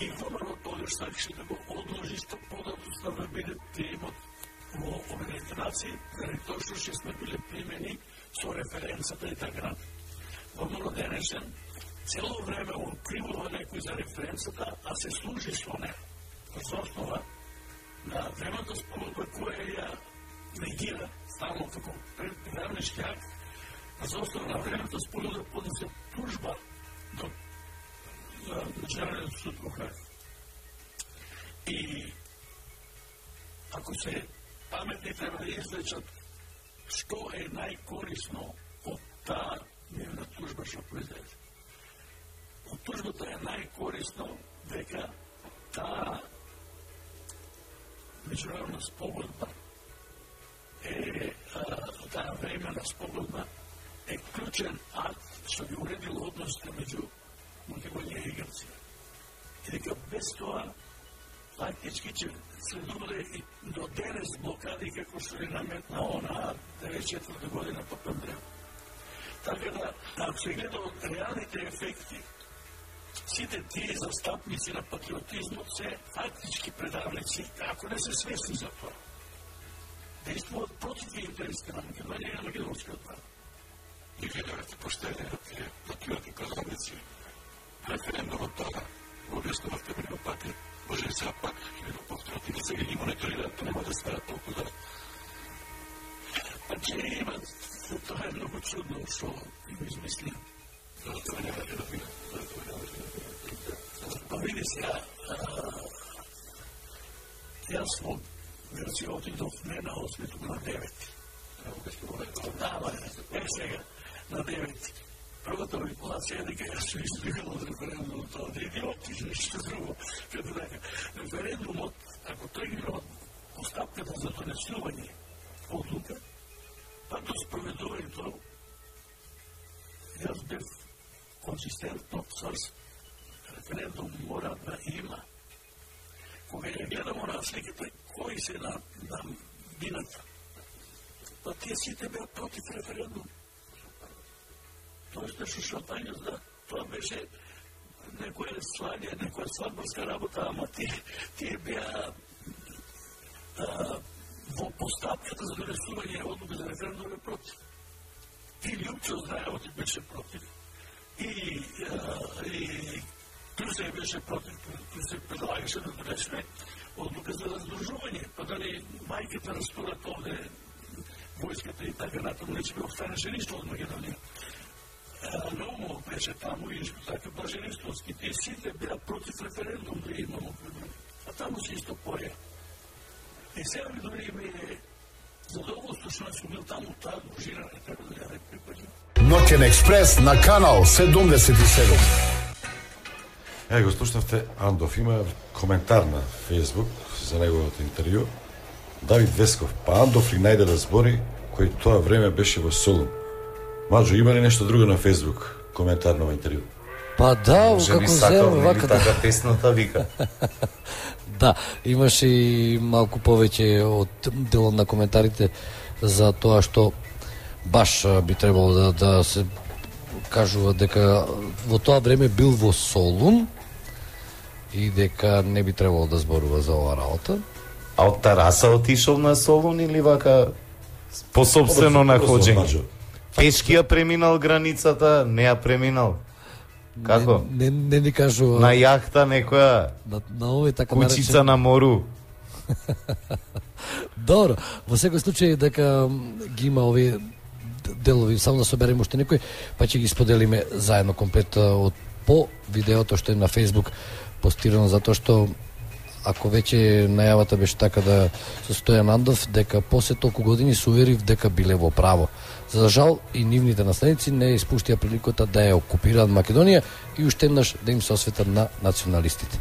и ВМРО тогаш сакаше да го одложи што подолго да биде приемот во Обединетите нации, заради тоа што ќе сме биле примени со референцата и така натаму. ВМРО денешен цело време откривува некој за референцата, а се служи со неја. За основа на времето спогодба која ја негира стално како предавнешки акт, за основа на времето спогодба поднесе тужба до Националниот суд во Хаг. И ако се паметни треба да извлечат што е најкорисно од таа нивна тужба што произведе. Од тужбата е најкорисно дека таа меѓународна спогодба таа времена спогодба е клучен акт што ги уредил односите меѓу Македонија и Грција. И дека без тоа фактички ќе следувале и до денес блокади како што е наметна она 94 година по Пандреј. Така да, ако се гледа од реалните ефекти, сите тие застапници на патриотизмот се фактички предавници, ако не се свесни за тоа. Действуват против интересите на Македонија и на македонскиот народ. И гледавате поштени на тие патриоти предавници. Референдумот тога го објаснувавте многу пати. Може сега пак ќе го повторите и сега ги мониторираат, нема да стават толку да. Па че имат, тоа е многу чудно што го измисли. Тоа не може да биде. Па види сега, јас во Грција отидов не на 8, туку на 9. Да, сега, на 9. Првата манипулација е дека јас се избегал од референдумот, тоа да идиоти, нешто друго. Като дека, референдумот, ако тој ги имал постапката за донесување одлука, па до спроведувањето, јас бев консистентно црс. Референдум мора да има. Кога ја гледам на сликата, кои се на бината, па тие сите беа против референдум. Тоа беше шотање, да, тоа беше некоја слање, некоја свадбарска работа, ама тие беа во постапката за донесување одлука за референдум е против. И Лјупчо Здајевот беше против. И Крусев беше против. Крусев предлагаше да донесме одлука за раздружување, па дали мајките растурат овде војската и така натаму, не ќе останеше ништо од Македонија. Наумов беше таму и така Блаженествовски. Тие сите беа против референдум да имамо. А таму се исто поја. И сега ми дори ми е задоволство што сум бил таму таа дружина, така да ја не припаѓам. Ноќен експрес на канал 77. Го слушнавте Андов. Има коментар на Фейсбук за неговото интервју. Давид Весков. Па Андов ли најде да збори кој тоа време беше во Солун? Маđо, има ли нешто друго на Фейсбук? Коментар на интервју. Па да, како земе вака да. Така тесната вика. Да, имаше и малку повеќе од делот на коментарите за тоа што баш би требало да се кажува дека во тоа време бил во Солун и дека не би требало да зборува за оваа работа. А од Тараса отишол на Солун или вака по собствено находжење? Пешки ја преминал границата, не ја преминал. Како? Не ни кажува. На јахта некоја. На овој така кучица на мору. Добро, во секој случај дека ги има овие делови, само да собереме уште некој, па ќе ги споделиме заедно комплет од по видеото што е на Facebook постирано, затоа што ако веќе најавата беше така да со Стојан Андов, дека после толку години се уверив дека биле во право. За жал и нивните наследници не испуштија приликата да ја окупираат Македонија и уште еднаш да им се осветат на националистите.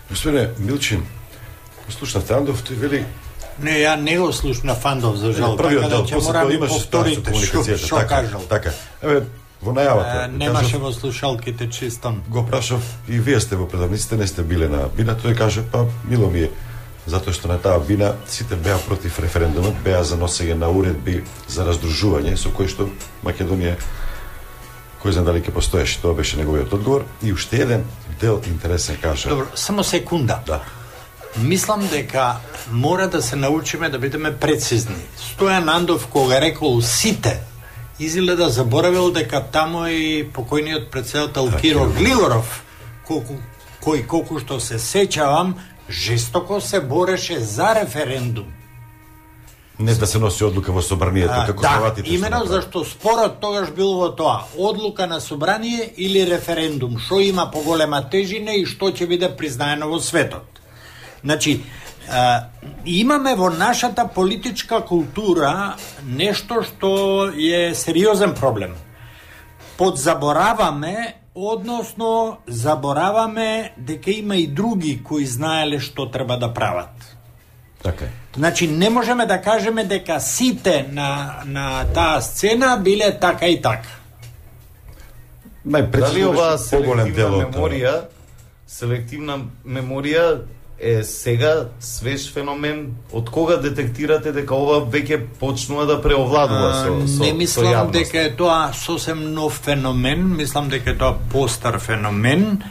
Господине Милчин, слушнавте Андов, тој вели... Не, ја не го слушнав Андов, за жал, така да ќе морам да повторите што кажал. Така, еве, во најавата. Немаше во слушалките чистон. Го прашав и вие сте во предавниците, не сте биле на бина, тој каже па мило ми е, затоа што на таа бина сите беа против референдумот, беа за носење на уредби за раздружување со кој што Македонија кој знае дали ќе постоеше, тоа беше неговиот одговор. И уште еден дел интересен каже. Добро, само секунда. Да. Мислам дека мора да се научиме да бидеме прецизни. Стојан Андов кога рекол сите, изгледа заборавил дека тамо и покојниот председател Киро Глигоров, кој колку што се сеќавам, жестоко се бореше за референдум. Не да се носи одлука во собранието, како Хрватите. Да, именно зашто спорот тогаш бил во тоа, одлука на собрание или референдум, што има поголема тежина и што ќе биде признаено во светот. Значи, имаме во нашата политичка култура нешто што е сериозен проблем. Подзабораваме, односно забораваме дека има и други кои знаеле што треба да прават. Така е. Значи, не можеме да кажеме дека сите на таа сцена биле така и така. Дали оваа селективна меморија е сега свеж феномен? Од кога детектирате дека ова веќе почнува да преовладува со не мислам дека е тоа сосем нов феномен, мислам дека е тоа постар феномен.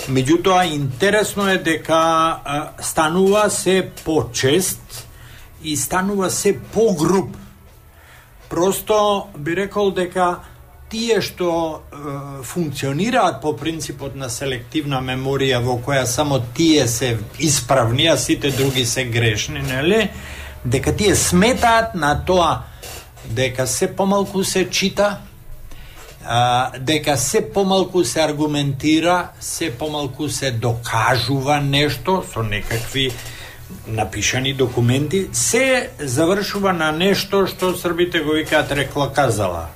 Меѓутоа, интересно е дека станува се почест и станува се погруп. Просто би рекол дека тие што функционираат по принципот на селективна меморија во која само тие се исправни, а сите други се грешни, нели? Дека тие сметаат на тоа дека се помалку се чита, дека се помалку се аргументира, се помалку се докажува нешто со некакви напишани документи, се завршува на нешто што србите го викаат рекла казала.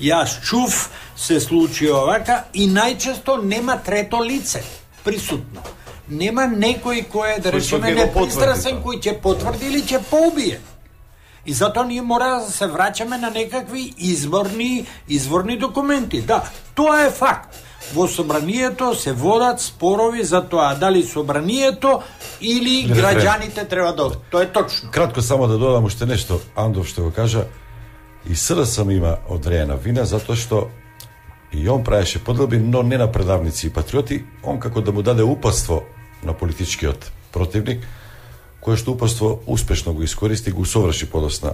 Јас чув, се случи овака и најчесто нема трето лице присутно. Нема некој кој е, да речеме, непристрасен, кој ќе потврди или ќе поубие. И затоа ние мора да се враќаме на некакви изворни документи. Да, тоа е факт. Во собранието се водат спорови за тоа дали собранието или граѓаните треба да... Тоа е точно. Кратко само да додам уште нешто, Андов што го кажа, и СДСМ има одреена вина затоа што и он правеше поделби, но не на предавници и патриоти, он како да му даде упатство на политичкиот противник, кое што упатство успешно го искористи, го усоврши подосна.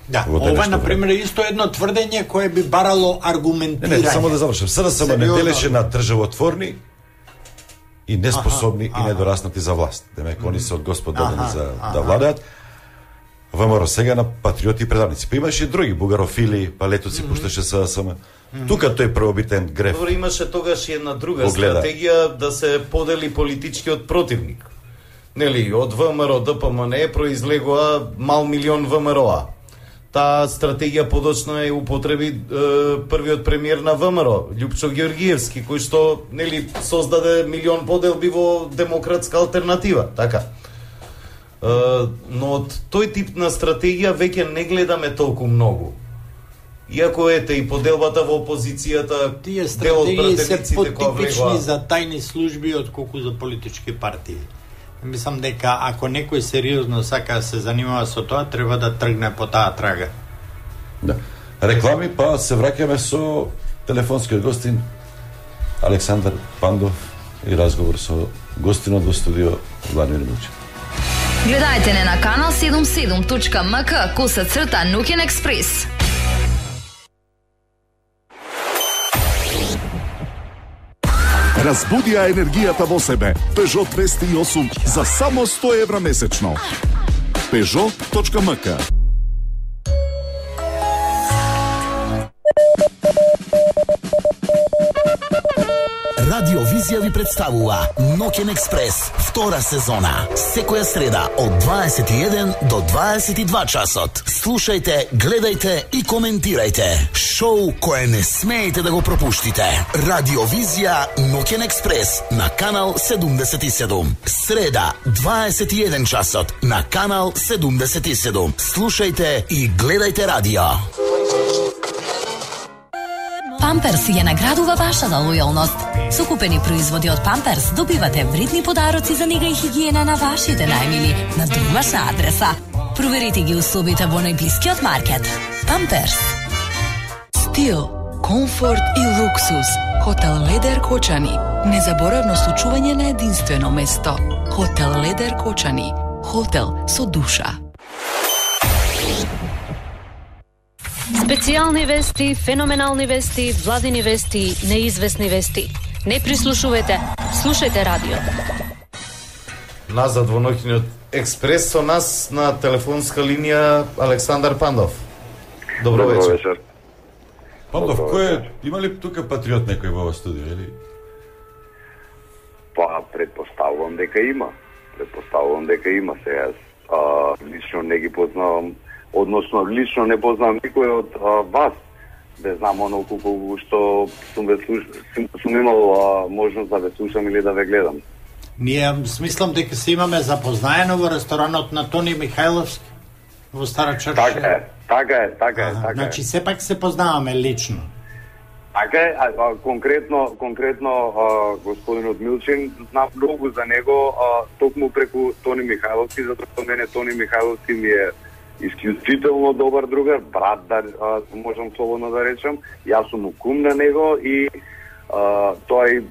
Да, ова на пример исто едно тврдење кое би барало аргументирање. Не, само да завршам. СДСМ не делеше на државотворни и неспособни и недораснати за власт. Демек, они се од Господ дадени за да владеат. ВМРО сега на патриоти и предавници. Па имаше и други бугарофили, па летоци пушташе СДСМ. Тука тој преобитен греф. Добро, имаше тогаш и една друга стратегија да се подели политичкиот противник. Нели, од ВМРО ДПМН произлегува мал милион ВМРО-а. Таа стратегија подочно е употреби првиот премиер на ВМРО, Љупчо Георгиевски, кој што нели создаде милион поделби во демократска алтернатива, така. Но од тој тип на стратегија веќе не гледаме толку многу. Иако ете и поделбата во опозицијата, тие стратегии се потипични за тајни служби отколку за политички партии. Мислам дека ако некој сериозно сака да се занимава со тоа, треба да тргне по таа трага. Да. Реклами, па се враќаме со телефонскиот гостин Александар Пандов и разговор со гостинот во студио Владимир Милчев. Гледајте не на канал 77.mk /Nuken Express. Разбуди ја енергијата во себе. Peugeot 208 за само 100 евра месечно. Peugeot.mk. Радиовизија ви представува Нокен Експрес, втора сезона. Секоја среда од 21 до 22 часот. Слушајте, гледајте и коментирајте. Шоу кое не смеете да го пропуштите. Радиовизија Нокен Експрес на канал 77. Среда, 21 часот на канал 77. Слушајте и гледајте радио. Памперс ја наградува вашата лојалност. Со купени производи од Памперс добивате вредни подароци за нега и хигиена на вашите најмили на домашна адреса. Проверете ги условите во најблискиот маркет. Памперс. Стил, комфорт и луксус. Хотел Ледер Кочани. Незаборавно случување на единствено место. Хотел Ледер Кочани. Хотел со душа. Специјални вести, феноменални вести, владини вести, неизвестни вести. Не прислушувате, слушајте радио. Назад во ноќниот експрес со нас на телефонска линија Александар Пандов. Добро вечер. Пандов, има ли тука патриот некој во ова студио, или? Па, предпоставувам дека има. Сега, лично не ги познавам, односно лично не познавам никој од вас. Не знам онолку колку што сум имал можност да ве слушам или да ве гледам. Ние смислам дека се имаме запознаено во ресторанот на Тони Михајловски во Стара Чаршија. Така е. Значи сепак се познаваме лично. Така е, конкретно господинот Милчин, знам многу за него, токму преку Тони Михајловски, затоа што мене Тони Михајловски ми е исклучително добар другар, брат, да можам слободно да речам. Јас сум кум на него и тој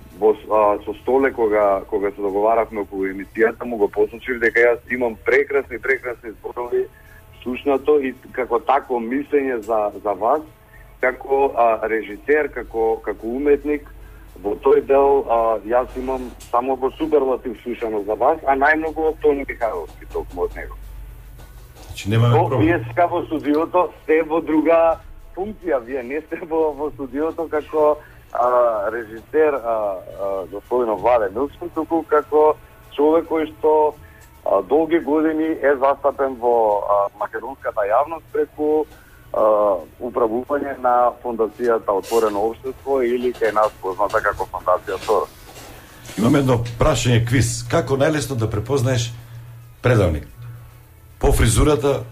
со Столе кога се договаравме околу емисијата му го посочив дека јас имам прекрасни зборови слушнато и како такво мислење за вас, како режисер, како уметник. Во тој дел јас имам само во суперлатив слушано за вас, а најмногу од Тони Михајловски, токму од него. Значи немаме проблем. Вие сега во студиото сте во друга функција, вие не сте во студиото како режисер господинот Владе Милчин, туку како човек кој што долги години е застапен во македонската јавност преку управување на фондацијата Отворено општество или кај нас позната како фондација Сорос. Имам едно прашање квиз. Како најлесно да препознаеш предавник? По фризурата,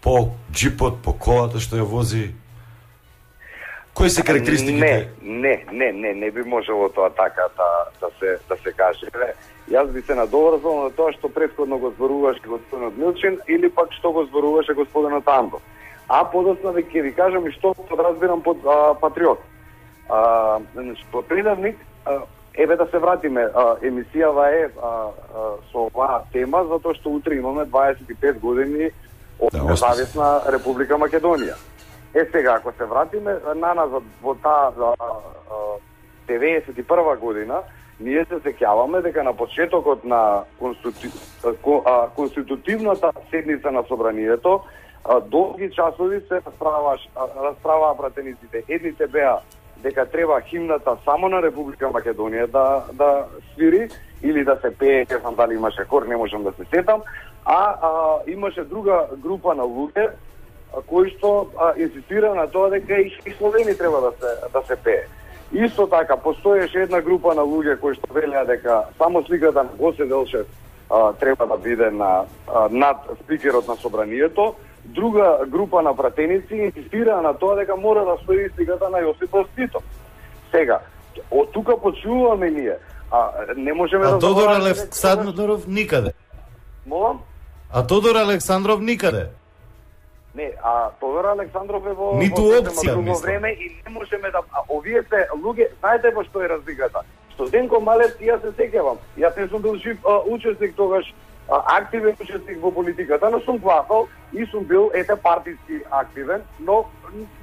по джипот, по колата што ја вози? Кои се карактеристиките? Не би можело тоа така да се каже. Јас би се надоврзал на тоа што претходно го зборуваше господинот Милчин или пак што го зборуваше господинот Андов. А подоцна ќе ви кажам и што подразбирам под патриот. Значи, по предавник, еве да се вратиме, емисијава е со оваа тема, затоа што утре имаме 25 години од независна Република Македонија. Сега, ако се вратиме наназад во таа 91 година, ние се сеќаваме дека на почетокот на конститутивната седница на Собранието, долги часови се расправаа пратениците. Едните беа дека треба химната само на Република Македонија да свири или да се пее, не знам дали имаше хор, не можам да се сетам, имаше друга група на луѓе кои што инсистира на тоа дека и Словени треба да се пее. Исто така, постоеше една група на луѓе кои што велеа дека само сликата на Гоце Делчев треба да биде над спикерот на Собранието. Друга група на пратеници инсистира на тоа дека мора да стои сликата на Јосип Broz Tito. Сега, од тука почуваме ние. Не можеме да... Тодор Александров никаде. Молам? Тодор Александров никаде. Не, Тодор Александров е во ниту опција време и не можеме да овие се луѓе, знаете во што е разликата? Што Денко Малевски, јас се сеќавам. Јас не сум бил жив учесник тогаш, активен учесник во политиката, но сум гласал и сум бил партиски активен, но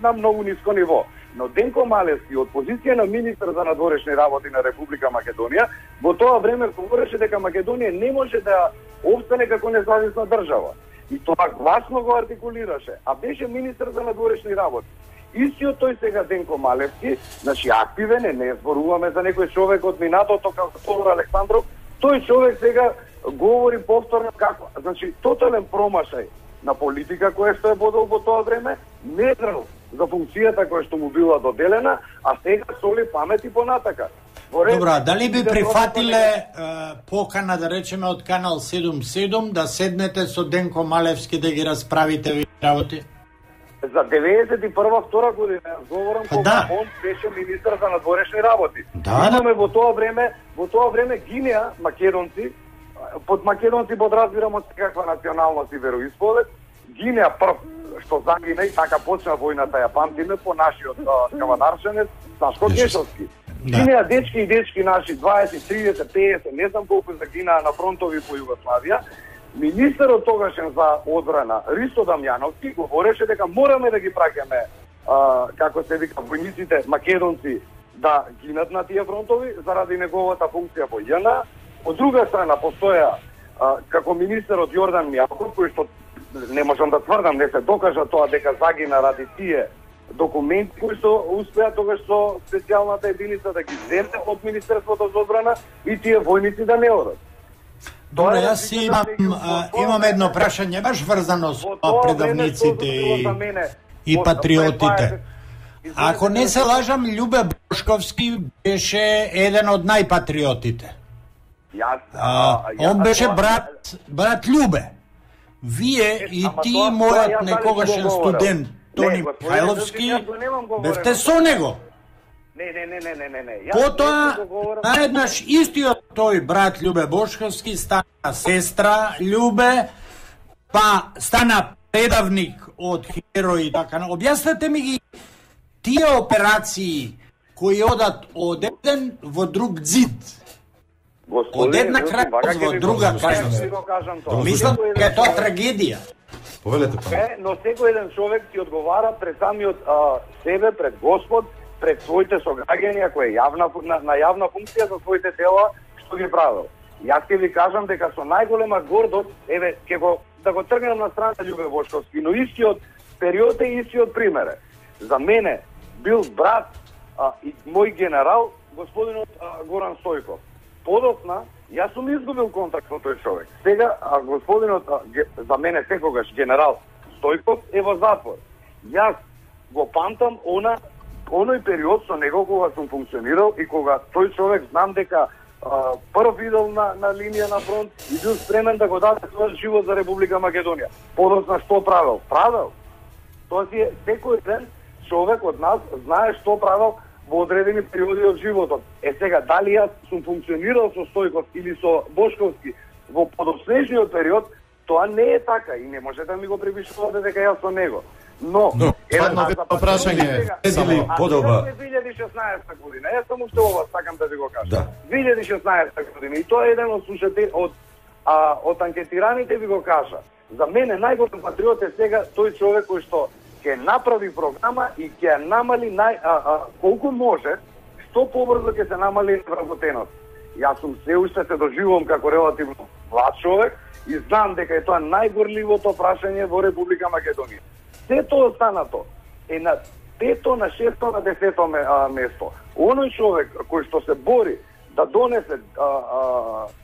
на многу ниско ниво. Но Денко Малевски од позиција на министер за надворешни работи на Република Македонија во тоа време говореше дека Македонија не може да опстане како независна држава. И тоа гласно го артикулираше, беше министер за надворешни работи. Истиот тој сега Денко Малевски, значи активен не зборуваме за некој човек од минатото како Тодор Александров, тој човек сега говори повторно како, значи тотален промашај на политика која што е водел во тоа време, не знал за функцијата која што му била доделена, а сега соли памет и понатака. Добро, дали би прифатиле покана, да речеме, од Канал 77 да седнете со Денко Малевски да ги расправите ви работи? За 91-2 година говорам кога он беше министар за надворешни работи. Имаме во тоа време гинеа македонци, под македонци подразбирам од каква националност и вероисповед, гинеа прв што загина и така почна војната, ја памтиме по нашиот кавадарчанец Сашко Гешовски. Гинеа дечки и дечки наши 20, 30, 50, не знам колку загинаа на фронтови по Југославија. Министерот тогашен за одбрана Ристо Дамјановски говореше дека мораме да ги праќаме како се вика војниците македонци да гинат на тие фронтови заради неговата функција во ЈНА. Од друга страна постоја како министерот Јордан Мјаков, кој што не можам да тврдам, не се докажа тоа дека загина ради тие документи кои што успеа тогаш со специјалната единица да ги земе од Министерството за одбрана и тие војници да не одат. Добре, јас имам едно прашање баш врзано со предавниците и патриотите. Ако не се лажам, Љубе Бошковски беше еден од најпатриотите. Он беше брат Љубе. Вие и ти, мојот некогашен студент Тони Михајловски, бевте со него. Не. Потоа, наеднаш истиот тој брат Љубе Бошковски стана сестра Љубе, па стана предавник од Херој и така. Објаснете ми ги тие операции кои одат од еден во друг ѕид. Од една крајност во друга крајност. Мислам дека е тоа трагедија. Повелете па. Но секој еден човек ти одговара пред самиот себе, пред Господ, пред своите сограѓани, ако е на јавна функција за своите дела, што ги правил. Јас ќе ви кажам дека со најголема гордост, еве, да го тргнем на страна Љубе Бошковски, но истиот период е истиот пример. За мене бил брат и мој генерал, господинот Горан Стојков. Подоцна, јас сум изгубил контакт со тој човек. Сега, господинот, за мене секогаш генерал Стојков е во затвор. Јас го памтам оној период со него кога сум функционирал и кога тој човек знам дека прв видел на линија на фронт и бил спремен да го даде својот живот за Република Македонија. Подоцна што правил? Правил. Тоа си е секој ден човек од нас знае што правил во одредени периоди од животот. Сега, дали јас сум функционирал со Стојков или со Бошковски во подоснежниот период, тоа не е така и не можете да ми го припишувате дека јас со него. Но прашање само подоба 2016 година. Јас само што ова сакам да ви го кажам. 2016 година и тоа е еден од слушатели од анкетираните ви го кажа. За мене најголем патриот е сега тој човек кој што ќе направи програма и ќе намали колку може, што побрзо ќе се намали вработеност. Јас сум се уште се доживувам како релативно млад човек и знам дека е тоа најгорливото прашање во Република Македонија. Сето останато е на 5-то, на 6-то, на 10-то место. Оној човек кој што се бори да донесе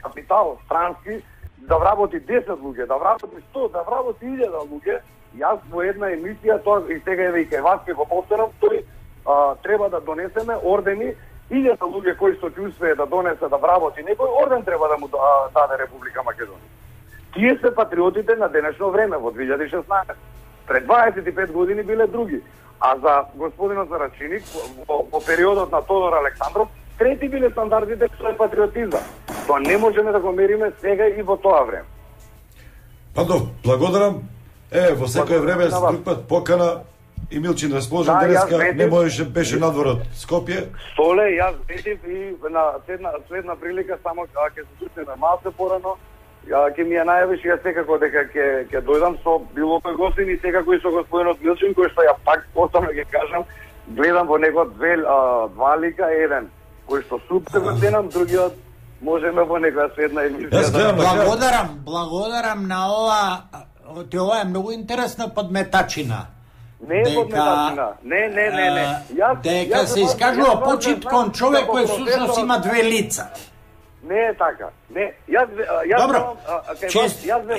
капитал странски, да вработи 10 луѓе, да вработи 100, да вработи 1000 луѓе, јас во една емисија, тоа и сега еве и кај вас ќе го повторам, тој треба да донесеме ордени, 1000 луѓе кои што ќе успее да донесе да вработи некој орден треба да му даде Република Македонија. Тие се патриотите на денешно време во 2016. Пред 25 години биле други. А за господинот Зарачиник, во периодот на Тодор Александров, трети биле стандардите што е патриотизам. Тоа не можеме да го мериме сега и во тоа време. Пардон, благодарам. Во секое време за друг пат покана и Милчин расположен денеска не можеше, беше надвор од Скопје. Соле, јас ветив и на следна прилика само ќе се сусретнеме малку порано. Ќе ми ја најавиш јас секако дека ќе дојдам со било кој гостин и секако и со господинот Милчин, кој што ја пак оставно ќе кажам, гледам во него два лика, еден кој што супер го ценам, другиот можеме во некоја следна емисија. Благодарам на ова. Ова е многу интересна подметачина. Не е подметачина. Не. Дека се искажува почит кон човек кој всушност има две лица. Не е така. Не. Добро.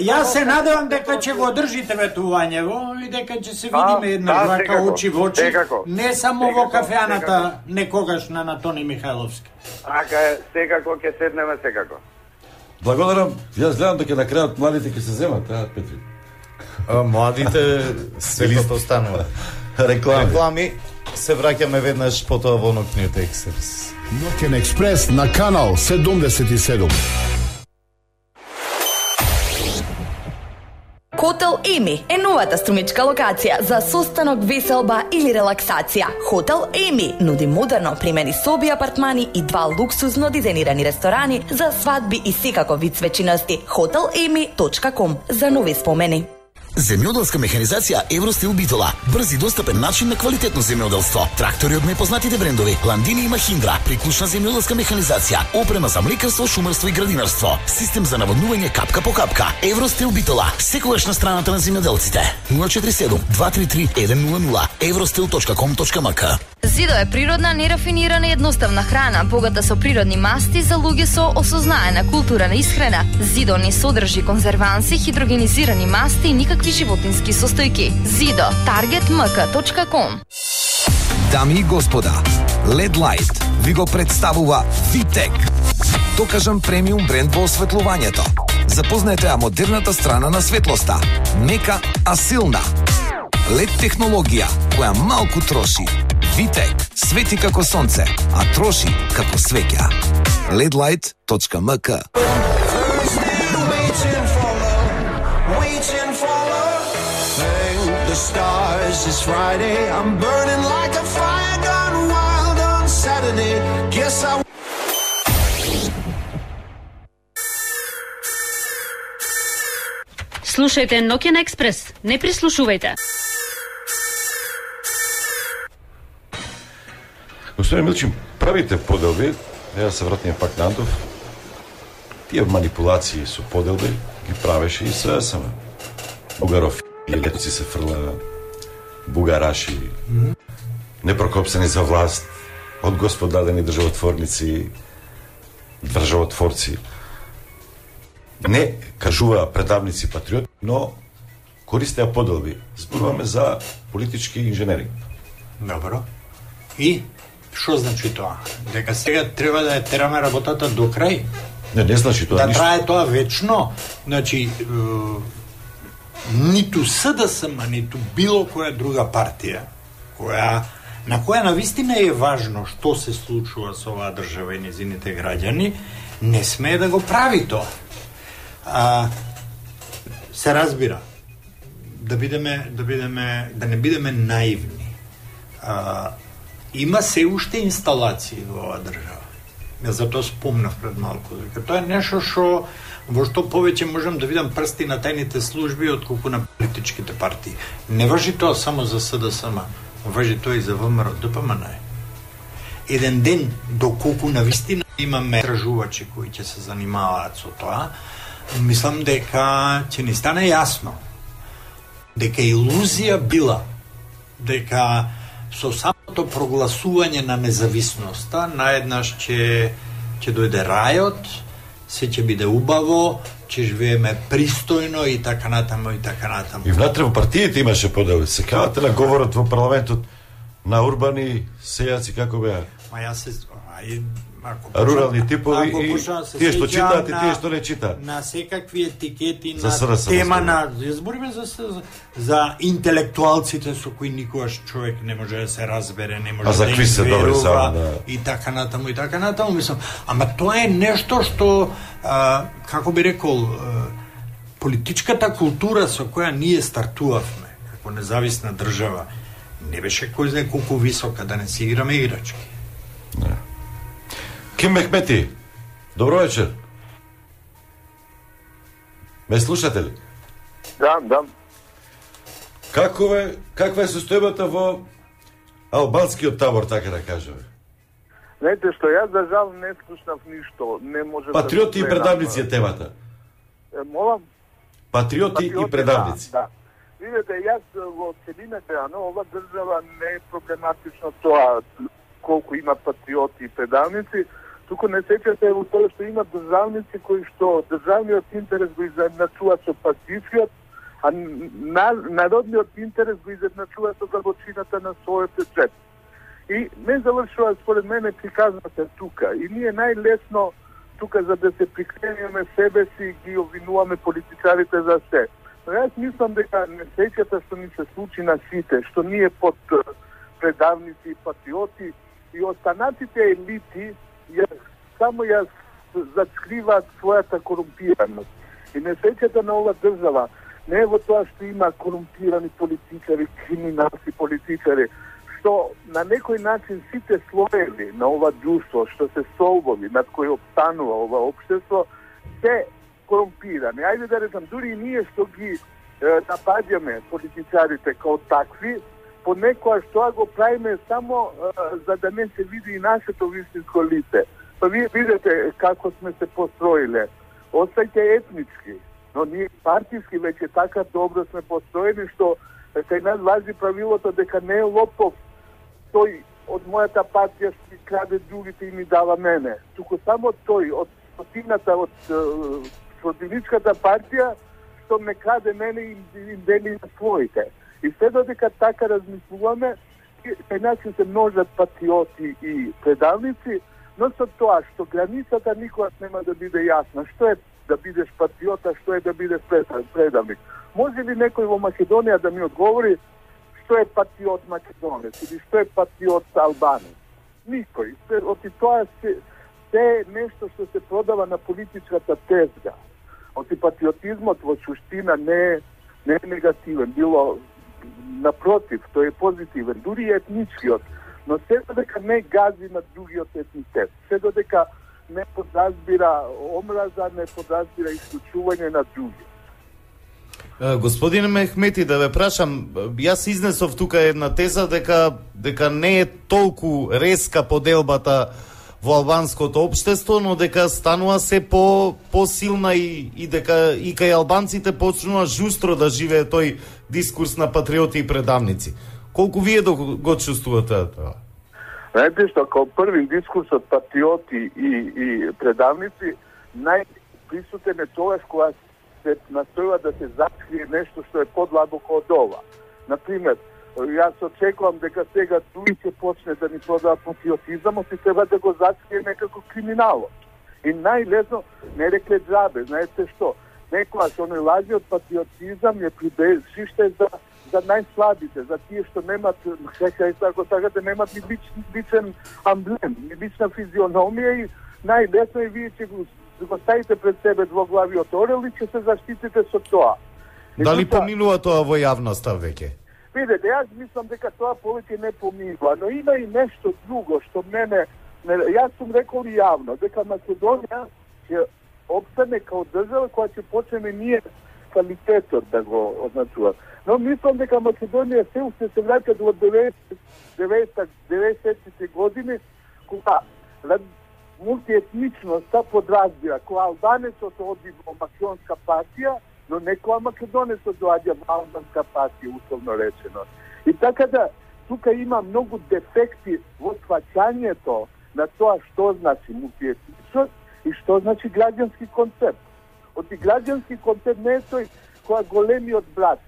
Јас се надевам дека ќе го одржите ветувањево и дека ќе се видиме една вака очи во очи. Не само во кафеаната некогашна на Тони Михајловски. Така е, секако ќе седнеме секако. Благодарам. Јас гледам дека на крајот младите ќе се земат, Петри. Младите светот останува. Реклами. Се враќаме веднаш потоа во Ноќниот експрес. Ноќен експрес на канал 77. Хотел Еми е новата струмичка локација за состанок, веселба или релаксација. Хотел Еми нуди модерно примени соби, апартмани и 2 луксузно дизајнирани ресторани за свадби и секако вид свечиности. hotelemi.com за нови спомени. Земјоделска механизација Евростил Битола. Брз и достапен начин на квалитетно земјоделство. Трактори од најпознатите брендови Ландини и Махиндра, приклучна земјоделска механизација, опрема за млекарство, шумарство и градинарство, систем за наводнување капка по капка. Евростил Битола, секогаш на страната на земјоделците. 047 233 100 evrostil.com.mk. Зидо е природна, нерафинирана и едноставна храна, богата со природни масти за луѓе со осознаена култура на исхрана. Зидо не содржи конзерванси, хидрогенизирани масти и никакви животински состојки. Зидо, targetmk.com. Дами и господа, LED Light ви го представува Vitec. Докажан премиум бренд во осветлувањето. Запознаете ја модерната страна на светлоста. Мека, а силна. LED технологија која малку троши. Vitec свети како сонце, а троши како свеќа. ledlight.mk. The stars, it's Friday, I'm burning like a fire gone wild on Saturday. Guess I Слушајте Ноќен експрес, не прислушувајте. Господин Милчин, правите поделби, ја се вратиме пак на Антов. Тие манипулации со поделби ги правеше и ССМ. Бугаров и летоци се фрла бугараши, непрокопсени за власт, од господадени државотворници, државотворци. Не кажуваа предавници патриоти, но користеа поделби. Зборуваме за политички инженеринг. Добро. И што значи тоа? Дека сега треба да ја тераме работата до крај? Не значи тоа да ништо. трае тоа вечно. Значи, ниту СДСМ, ниту било која друга партија, на која навистина е важно што се случува со оваа држава и незините граѓани, не смее да го прави тоа. Се разбира, да не бидеме наивни. Има се уште инсталации во оваа држава. Ја затоа спомнав пред малку, дека тоа е нешто во што повеќе можам да видам прсти на тајните служби отколку на политичките партии. Не важи тоа само за СДСМ, важи тоа и за ВМРО, ДПМН. Еден ден, доколку навистина имаме истражувачи кои ќе се занимаваат со тоа, мислам дека ќе ни стане јасно дека илузија била дека со самото прогласување на независноста наеднаш ќе дојде рајот, се ќе биде убаво, ќе живееме пристојно и така натаму и така натаму. И внатре во партиите имаше поделби. Се кавате на говорот во парламентот на урбани сејаци како беа? Ма јас се рурални типови и тие што читаат и тие што не читаат. На секакви етикети за на тема на избориме за интелектуалците со кои никогаш човек не може да се разбере, не може да им верува и така натаму и така натаму, мислам. Ама тоа е нешто што како би рекол политичката култура со која ние стартувавме како независна држава не беше кој знае колку висока, да не си играме играчки. Не. Ким Мехмети, добро вечер. Ме слушате ли? Да. Каква е состојбата во албанскиот табор, така да кажеме? Знаете што, јас за жал не слушнав ништо. Не може Патриоти и предавници е темата. Молам? Патриоти и предавници. Да. Видете, јас во целината, ова држава не е проблематично тоа колку има патриоти и предавници, туку не сеќате во тоа што има државници кои што државниот интерес го изедначува со партијскиот, а народниот интерес го изедначува со длабочината на својот джеб. И не завршува според мене приказната тука. И ние најлесно тука за да се прикренуваме себе си ги обвинуваме политичарите за се. Јас мислам дека несреќата што ни се случи на сите, што ние под предавници и патриоти и останатите елити само ја заскриваат својата корумпираност. И несреќата на ова држава не е во тоа што има корумпирани политичари, криминалци политичари, што на некој начин сите слоеви на ова друштво, што се солбови, над кој обстанува ова општество, се корумпирани. Ајде да речам, дури и ние што ги напаѓаме политичарите као такви, понекогаш тоа го правиме само за да не се види и нашето вистинско лице. Па вие видите како сме се построиле. Остајте етнички, но ние партиски веќе така добро сме построени што кај нас важи правилото дека не е лопов тој од мојата партија што ми краде другите и ми дава мене. Туку само тој од стотината од противничката партија што ме краде мене и им дели на своите. И се додека така размислуваме, кај нас се множат патриоти и предавници, но со тоа што границата никогаш нема да биде јасна. Што е да бидеш патриот, а што е да бидеш предавник? Може ли некој во Македонија да ми одговори што е патриот македонец или што е патриот албанец? Никој. Оти тоа се е нешто што се продава на политичката тезга. Оти патриотизмот во суштина не е негативен, било напротив, тој е позитивен, дури и етничкиот, но се додека не гази на другиот етнитет, се додека не подразбира омраза, не подразбира исклучување на други. Господин Мехмети, да ве прашам, јас изнесов тука една теза дека не е толку резка поделбата во албанското општество, но дека станува се посилна и дека и кај албанците почнува жустро да живее тој дискурс на патриоти и предавници. Колку вие го чувствувате тоа? Знаете што, као први дискурсот патриоти и предавници, најприсутен е тоа кога се настојува да се закрие нешто што е подлабоко од ова. Например, јас очекувам дека сега туи ќе почне да ни продава патриотизам, и треба да го закрие некако криминалот. И најлесно, не рекле џабе, знаете што, некојаш оној лажиот патриотизам е прибежиште за најслабите, за тие што немат, ако сакате, немат ни личен амблем, ни лична физиономија и најлесно е вие ќе го ставите пред себе двоглавиот орел и ќе се заштитите со тоа. Дали поминува тоа во јавноста веќе? Видете, јас мислам дека тоа повеќе не поминува, но има и нешто друго што мене, јас сум рекол и јавно, дека Македонија ќе обстане као држава која ќе почнеме ние квалитетот да го означува. Но мислам дека Македонија се уште се враќа до 90-те години, кога мултиетничноста подразбира, кога албанецот оди во македонска партија, но не кога македонецот доаѓа во албанска партија, условно речено. И така да, тука има многу дефекти во сваќањето на тоа што значи мултиетничност и што значи граѓански концепт. Оти граѓански концепт не е тој кога големиот брат,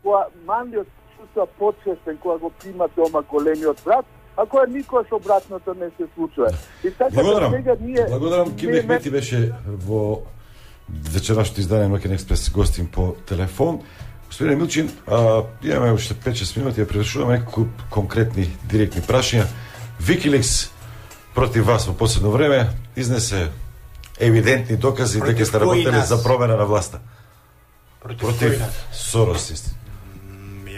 кога малиот чувства почестен, кога го прима дома големиот брат, а кога никогаш обратното не се случува. И така да сега ние... Благодарам, Ким Мехмети беше во вечерашното издание Нокен Експрес гостин по телефон. Господин Милчин, имаме уште 5-6 минути да превршуваме неколку конкретни, директни прашања. Викиликс против вас во последно време изнесе евидентни докази дека сте работеле за промена на власта. Против Сорос, истина.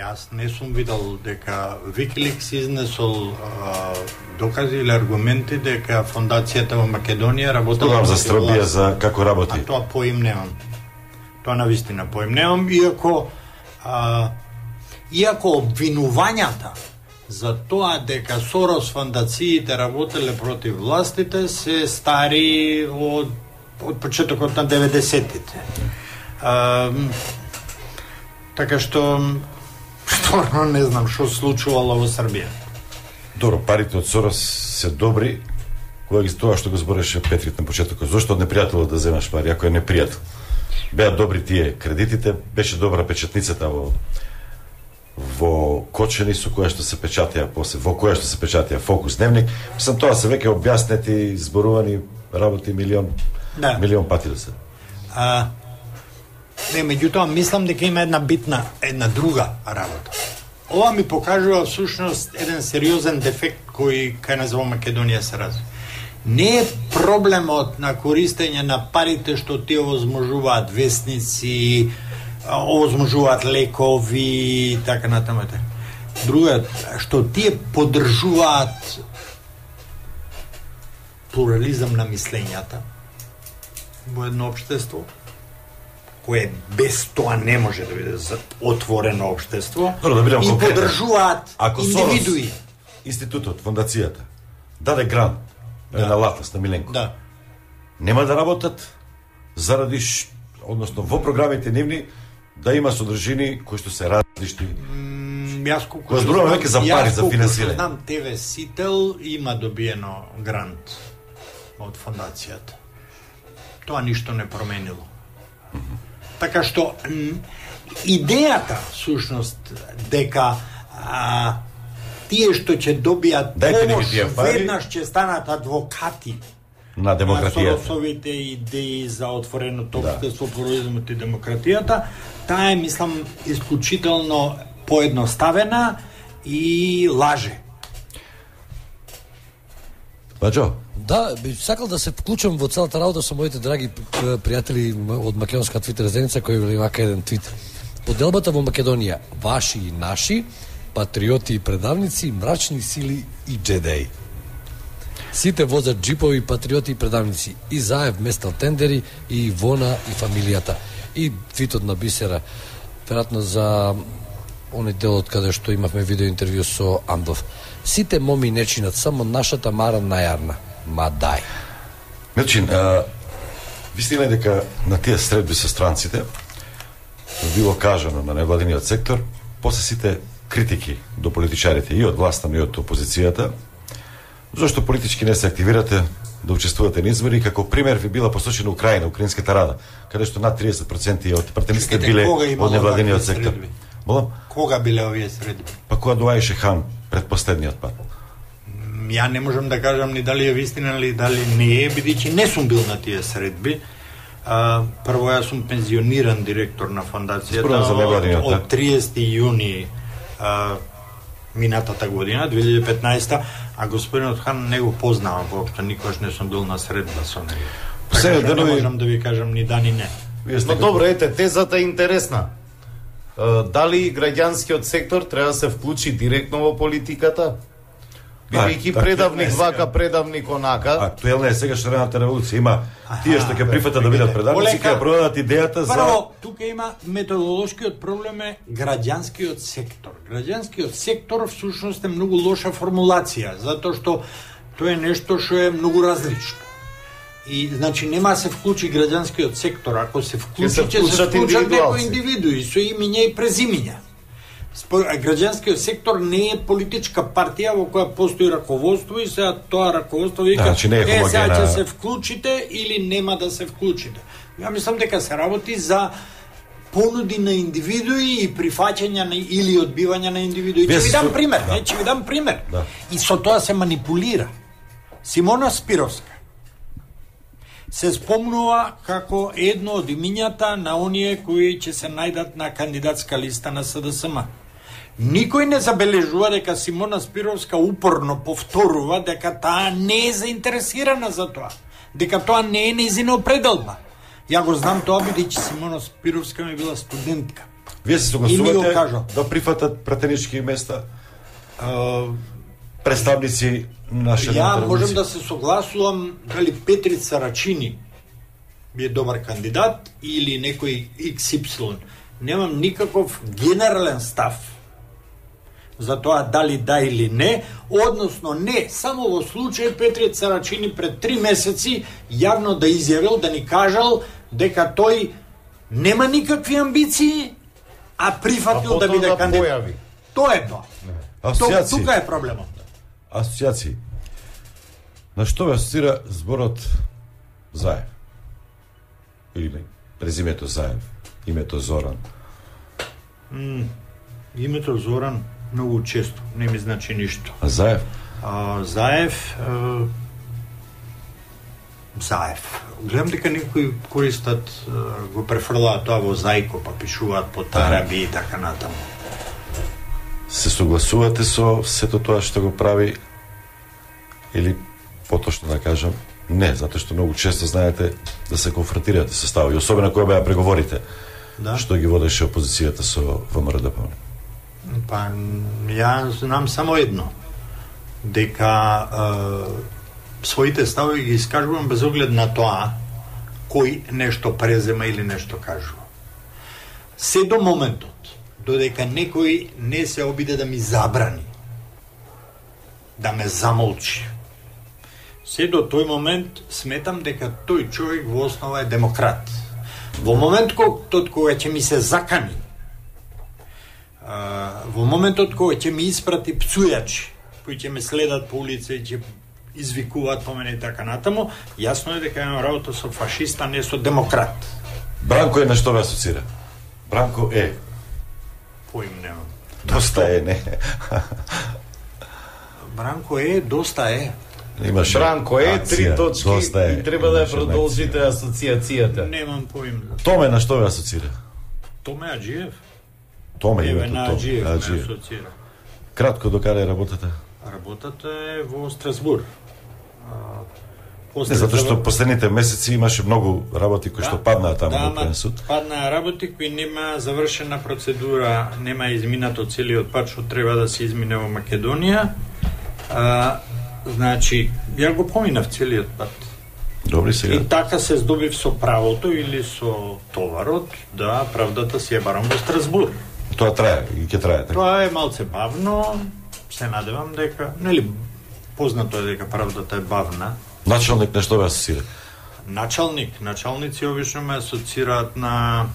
Јас не сум видел дека Викиликс изнесол докази или аргументи дека фондацијата во Македонија работела за Србија, за како работи. А тоа поим немам. Тоа навистина поим немам, иако обвинувањата за тоа дека Сорос фондациите работеле против властите се стари од почетокот на 90-тите. Така што стварно не знам што случувало во Србија. Добро, парите од Сорос се добри, кога ги тоа што го збореше Петрит на почетокот. Зошто од непријателот да земаш пари, ако е непријател? Беа добри тие кредитите, беше добра печатницата во Кочани со која што се печатија после, во која што се печатија Фокус дневник. Мислам, тоа се веќе објаснети, зборувани работи милион пати да се. Не, меѓутоа мислам дека има една друга работа. Ова ми покажува всушност еден сериозен дефект кој кај нас во Македонија се разви. Не е проблемот на користење на парите што тие овозможуваат весници, овозможуваат лекови и така натаму. Другиот, што тие поддржуваат плурализам на мислењата во едно општество, кое без тоа не може да биде отворено општество, и поддржуваат индивидуи. Институтот, фондацијата, даде грант на Латас, на Миленко. Да. Нема да работат заради, односно во програмите нивни, да има содржини кои што се различни. Јас колку зборуваме веќе за пари за финансирање. Знам, ТВ Сител има добиено грант од фондацијата. Тоа ништо не променило. Така што идејата всушност дека тие што ќе добијат помош веднаш ќе станат адвокати на демократијата. Соросовите идеи за отвореното општество, плурализмот и демократијата, таа е, мислам, исклучително поедноставена и лаже. Баџо? Да, би сакал да се вклучам во целата работа со моите драги пријатели од македонска твитер заедница кои вели вака еден твит. Поделбата во Македонија, ваши и наши, патриоти и предавници, мрачни сили и джедеи. Сите возат джипови, патриоти и предавници. И Заев местал тендери, и Ивона и фамилијата. И твитот на Бисера, веројатно за оној делот каде што имавме видео интервју со Андов. Сите моми не чинат, само нашата Мара најарна. Ма дај. Милчин, вистина е дека на тие средби со странците било кажано на невладиниот сектор, после сите критики до политичарите и од власта, и од опозицијата, зашто политички не се активирате да учествувате на избори, како пример ви била посочена Украина, украинската рада, каде што над 30% од пратениците биле од невладиниот сектор. Молам? Кога биле овие средби? Па кога доаѓаше Хан пред последниот пат? Ја не можам да кажам ни дали е вистина или дали не е, бидејќи не сум бил на тие средби. Прво, јас сум пензиониран директор на фондацијата од 30 јуни минатата година, 2015, а господинот Хан не го познавам воопшто, никогаш не сум бил на средба со него. Така не можам да ви кажам ни да ни не. Но добро, ете, тезата е интересна. Дали граѓанскиот сектор треба да се вклучи директно во политиката? Бидејќи предавник вака, предавник онака. Актуелна е сега шарената револуција. Има тие што ќе прифатат да бидат предавници, ќе продадат идејата за... Прво, тука има методолошкиот проблем е граѓанскиот сектор. Граѓанскиот сектор всушност е многу лоша формулација, затоа што тоа е нешто што е многу различно. И, значи, нема се вклучи граѓанскиот сектор. Ако се вклучи, ќе се вклучат некои индивидуи со имиња и презимиња. Граѓанскиот сектор не е политичка партија во која постои раководство и сега тоа раководство вика сега ќе се вклучите или нема да се вклучите. Ја мислам дека се работи за понуди на индивидуи и прифаќање на или одбивање на индивидуи. Ќе ви дам пример, ќе ви дам пример. И со тоа се манипулира. Симона Спировска се спомнува како едно од имињата на оние кои ќе се најдат на кандидатска листа на СДСМ. Никој не забележува дека Симона Спировска упорно повторува дека таа не е заинтересирана за тоа, дека тоа не е нејзина определба. Ја го знам тоа бидејќи Симона Спировска ми била студентка. Вие се согласувате да прифатат пратенички места? Представници на Ја можам да се согласувам дали Петрица Рачини е добар кандидат или некој XY. Немам никаков генерален став за тоа дали да или не, односно не, само во случај Петрица Рачини пред 3 месеци јавно да изјавил, да ни кажал дека тој нема никакви амбиции, а прифатил да биде кандидат. Тоа е тоа. Тука е проблемот. Асоцијации. На што ве асоцира зборот Заев? Или презимето Заев, името Зоран? Името Зоран многу често не ми значи ништо. А Заев? Заев Заев. Гледам дека некои користат, го префрлаат тоа во зајко, па пишуваат по тараби и така натаму. Се согласувате со сето тоа што го прави или поточно да кажам не, затоа што многу често знаете да се конфронтирате со ставови, особено кога беа преговорите. Да. Што ги водеше опозицијата со ВМРО-ДПМН? Па ја знам само едно, дека своите ставови ги искажувам без оглед на тоа кој нешто презема или нешто кажува. Се до моментот додека некој не се обиде да ми забрани, да ме замолчи, се до тој момент сметам дека тој човек во основа е демократ. Во моментот кога ќе ми се закани, во моментот кога ќе ми испрати пцујачи, кои ќе ме следат по улица и ќе извикуваат по мене и така натаму, јасно е дека имам работа со фашиста, не со демократ. Бранко е на што ве асоцира? Бранко е. Поим немам. Доста е, не. Бранко е, доста е. Имаше Бранко е, 3 точки и треба да ја продолжите асоциацијата. Немам поим. Томе на што ве асоцира? Томе Аджиев. Томе Еве името на Томе. Аджиев ме асоцира. Кратко, докаде работата? Работата е во Страсбур. Не, затоа што последните месеци имаше многу работи кои што паднаа таму во Окружен суд. Паднаа работи кои нема завршена процедура, нема изминато целиот пат што треба да се измине во Македонија. Значи, ја го поминав целиот пат. Добри сега. И така се здобив со правото или со товарот да правдата си ја барам во Страсбур. Тоа трае и ќе трае така. Тоа е малце бавно, се надевам дека, нели, познато е дека правдата е бавна. Началник на што ве асоцира? Началници обично ме асоцираат на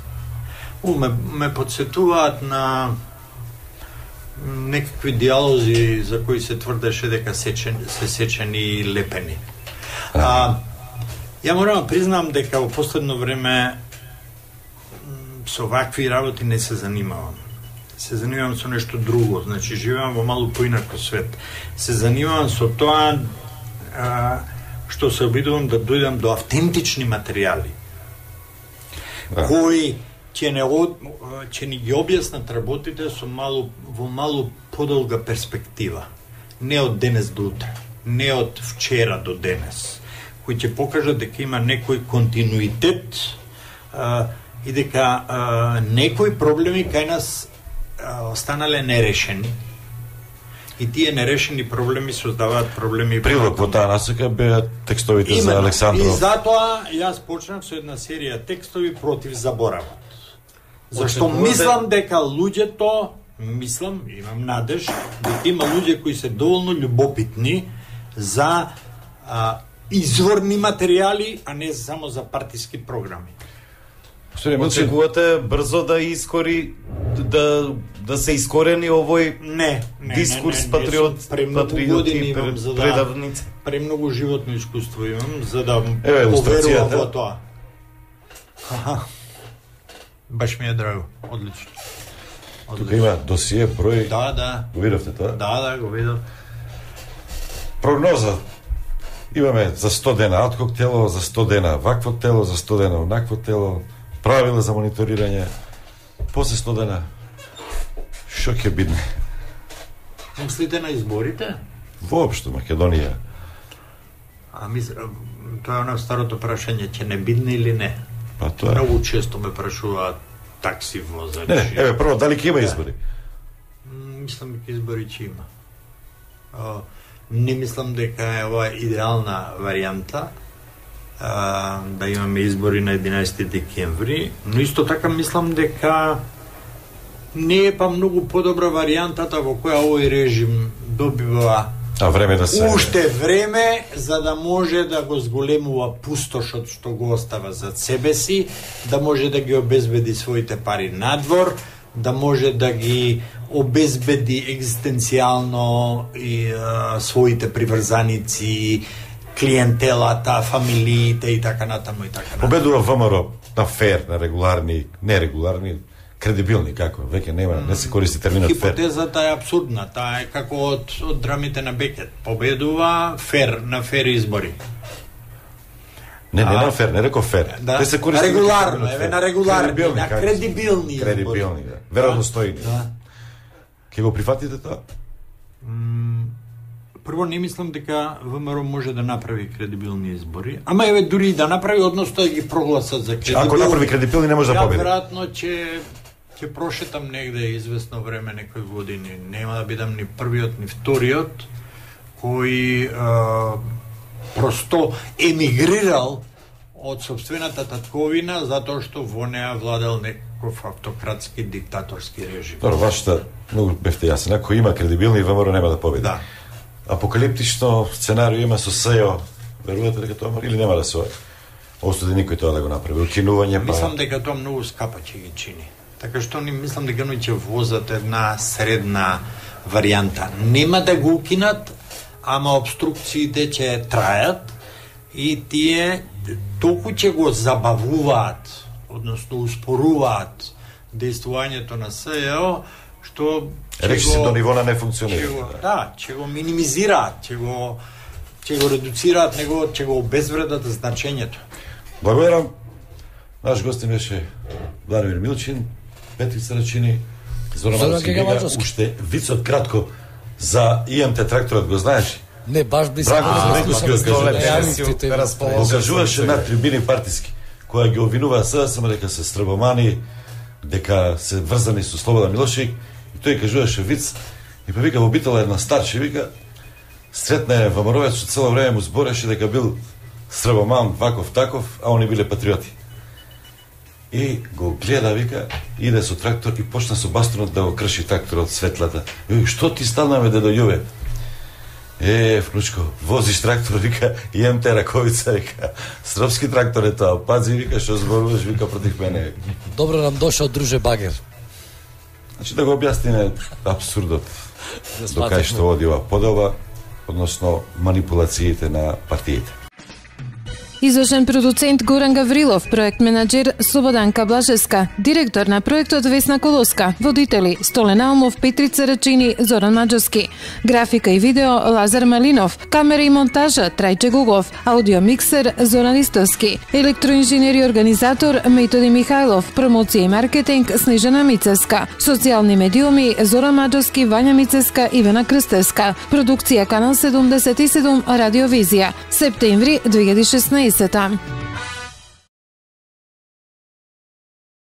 ме подсетуваат на некакви диалози за кои се тврдеше дека се сечени и лепени. Ја морам да признам дека во последно време со вакви работи не се занимавам. Се занимавам со нешто друго, значи живеам во малку поинако свет. Се занимавам со тоа што се обидувам да дојдам до автентични материјали кои ќе ни ги објаснат работите во малку подолга перспектива. Не од денес до утре, не од вчера до денес, кои ќе покажат дека има некој континуитет и дека некои проблеми кај нас останале нерешени. И тие нерешени проблеми создаваат проблеми. Прилог во таа насока беа текстовите за Александров. И затоа јас почнав со една серија текстови против заборавот. Зашто мислам дека луѓето, имам надеж, дека има луѓе кои се доволно љубопитни за изворни материјали, а не само за партиски програми. Очекувате брзо да да се искорени овој дискурс патриоти предавници? Премногу животно искуство имам за да поверувам во тоа. Баш ми е драго, одлично. Тука има досие, број. Да. Го видовте тоа? Да, го видов. Прогноза. Имаме за 100 дена адхок тело, за 100 дена вакво тело, за 100 дена онакво тело, правила за мониторирање. После 100 дена што ќе бидне? Мислите на изборите? Воопшто Македонија. Тоа е оно старото прашање, ќе не бидне или не? Па тоа. Многу често ме прашуваат такси возачи. Не, еве прво дали ќе има избори? Мислам дека избори ќе има. Не мислам дека е ова идеална варијанта да имаме избори на 11 декември, но исто така мислам дека не е па многу подобра варијантата во која овој режим добива време да се уште време за да може да го зголемува пустошот што го остава зад себе си, да може да ги обезбеди своите пари надвор, да може да ги обезбеди екзистенцијално и своите приврзаници, клиентелата, фамилиите и така натаму и така натаму. Победува ВМРО на фер, на регуларни, нерегуларни, кредибилни, како? Веќе нема, не се користи терминот фер. Хипотезата е абсурдна, таа е како од драмите на Бекет. Победува фер на фер избори. Не на фер, не реков фер. Да. Те се користи регуларно, еве на регуларни, на кредибилни. Кредибилни, да. Веројдостојни. Да. Ке го прифатите тоа? Прво не мислам дека ВМРО може да направи кредибилни избори, ама еве дури и да направи, односно да ги прогласат за кредибилни. Ако направи кредибилни не може да победи. Веројатно ќе прошетам негде известно време, некои години. Нема да бидам ни првиот, ни вториот кој просто емигрирал од собствената татковина затоа што во неа владел некој автократски диктаторски режим. Добро, вашата многу бевте јасен. Ако има кредибилни, ВМРО нема да победи. Да. Апокалиптично сценарио има со СЕО. Верувате дека тоа или нема да се осуди никој тоа да го направи? Укинување па... Мислам дека тоа многу скапа ќе ги чини. Така што не мислам дека ќе возат една средна варијанта. Нема да го укинат, ама обструкциите ќе трајат и тие толку ќе го забавуваат, односно успоруваат действувањето на СЕО, што речи се до ниво на не функционира. Ќе го минимизираат, ќе го редуцираат, ќе го обезвредат значењето. Благодарам. Наш гостин беше Владимир Милчин, Петрица Рачини, Зоран Маджовски. Уште вицот кратко за ИМТ тракторот, го знаеш? Не, баш би се го кажуваше на трибини партиски, која ги обвинува СДСМ дека се стрбомани, дека се врзани со Слободан Милошевиќ, и тој кажуваше виц, и па вика во битола една старче, вика, сретна ВМРО-вец што цело време му збореше дека бил стрбоман, ваков, таков, а они биле патриоти. И го гледа, вика, иде со трактор и почна со бастунот да го крши тракторот светлата. И вика, што ти станаме да дојуве? Внучко, возиш трактор, вика, имам те раковица, вика, српски трактор е тоа, пази, вика, што зборуваш, вика, против мене. Добро нам дошол, друже Багер. Значи да го објасниме абсурдот до кај што оди ова подоба, односно манипулациите на партиите. Извршен продуцент Горан Гаврилов, проект менаџер Слободанка Блажеска, директор на проектот Весна Колоска, водители Столен Аумов, Петрица Рачини, Зоран Маджовски, графика и видео Лазар Малинов, камера и монтажа Трајче Гугов, аудио миксер Зоран Истовски, електроинженер и организатор Методи Михајлов, промоција и маркетинг Снежана Мицеска, социјални медиуми Зоран Маджовски, Вања Мицеска, Ивана Крстевска, продукција Канал 77, Радиовизија, септември 2016.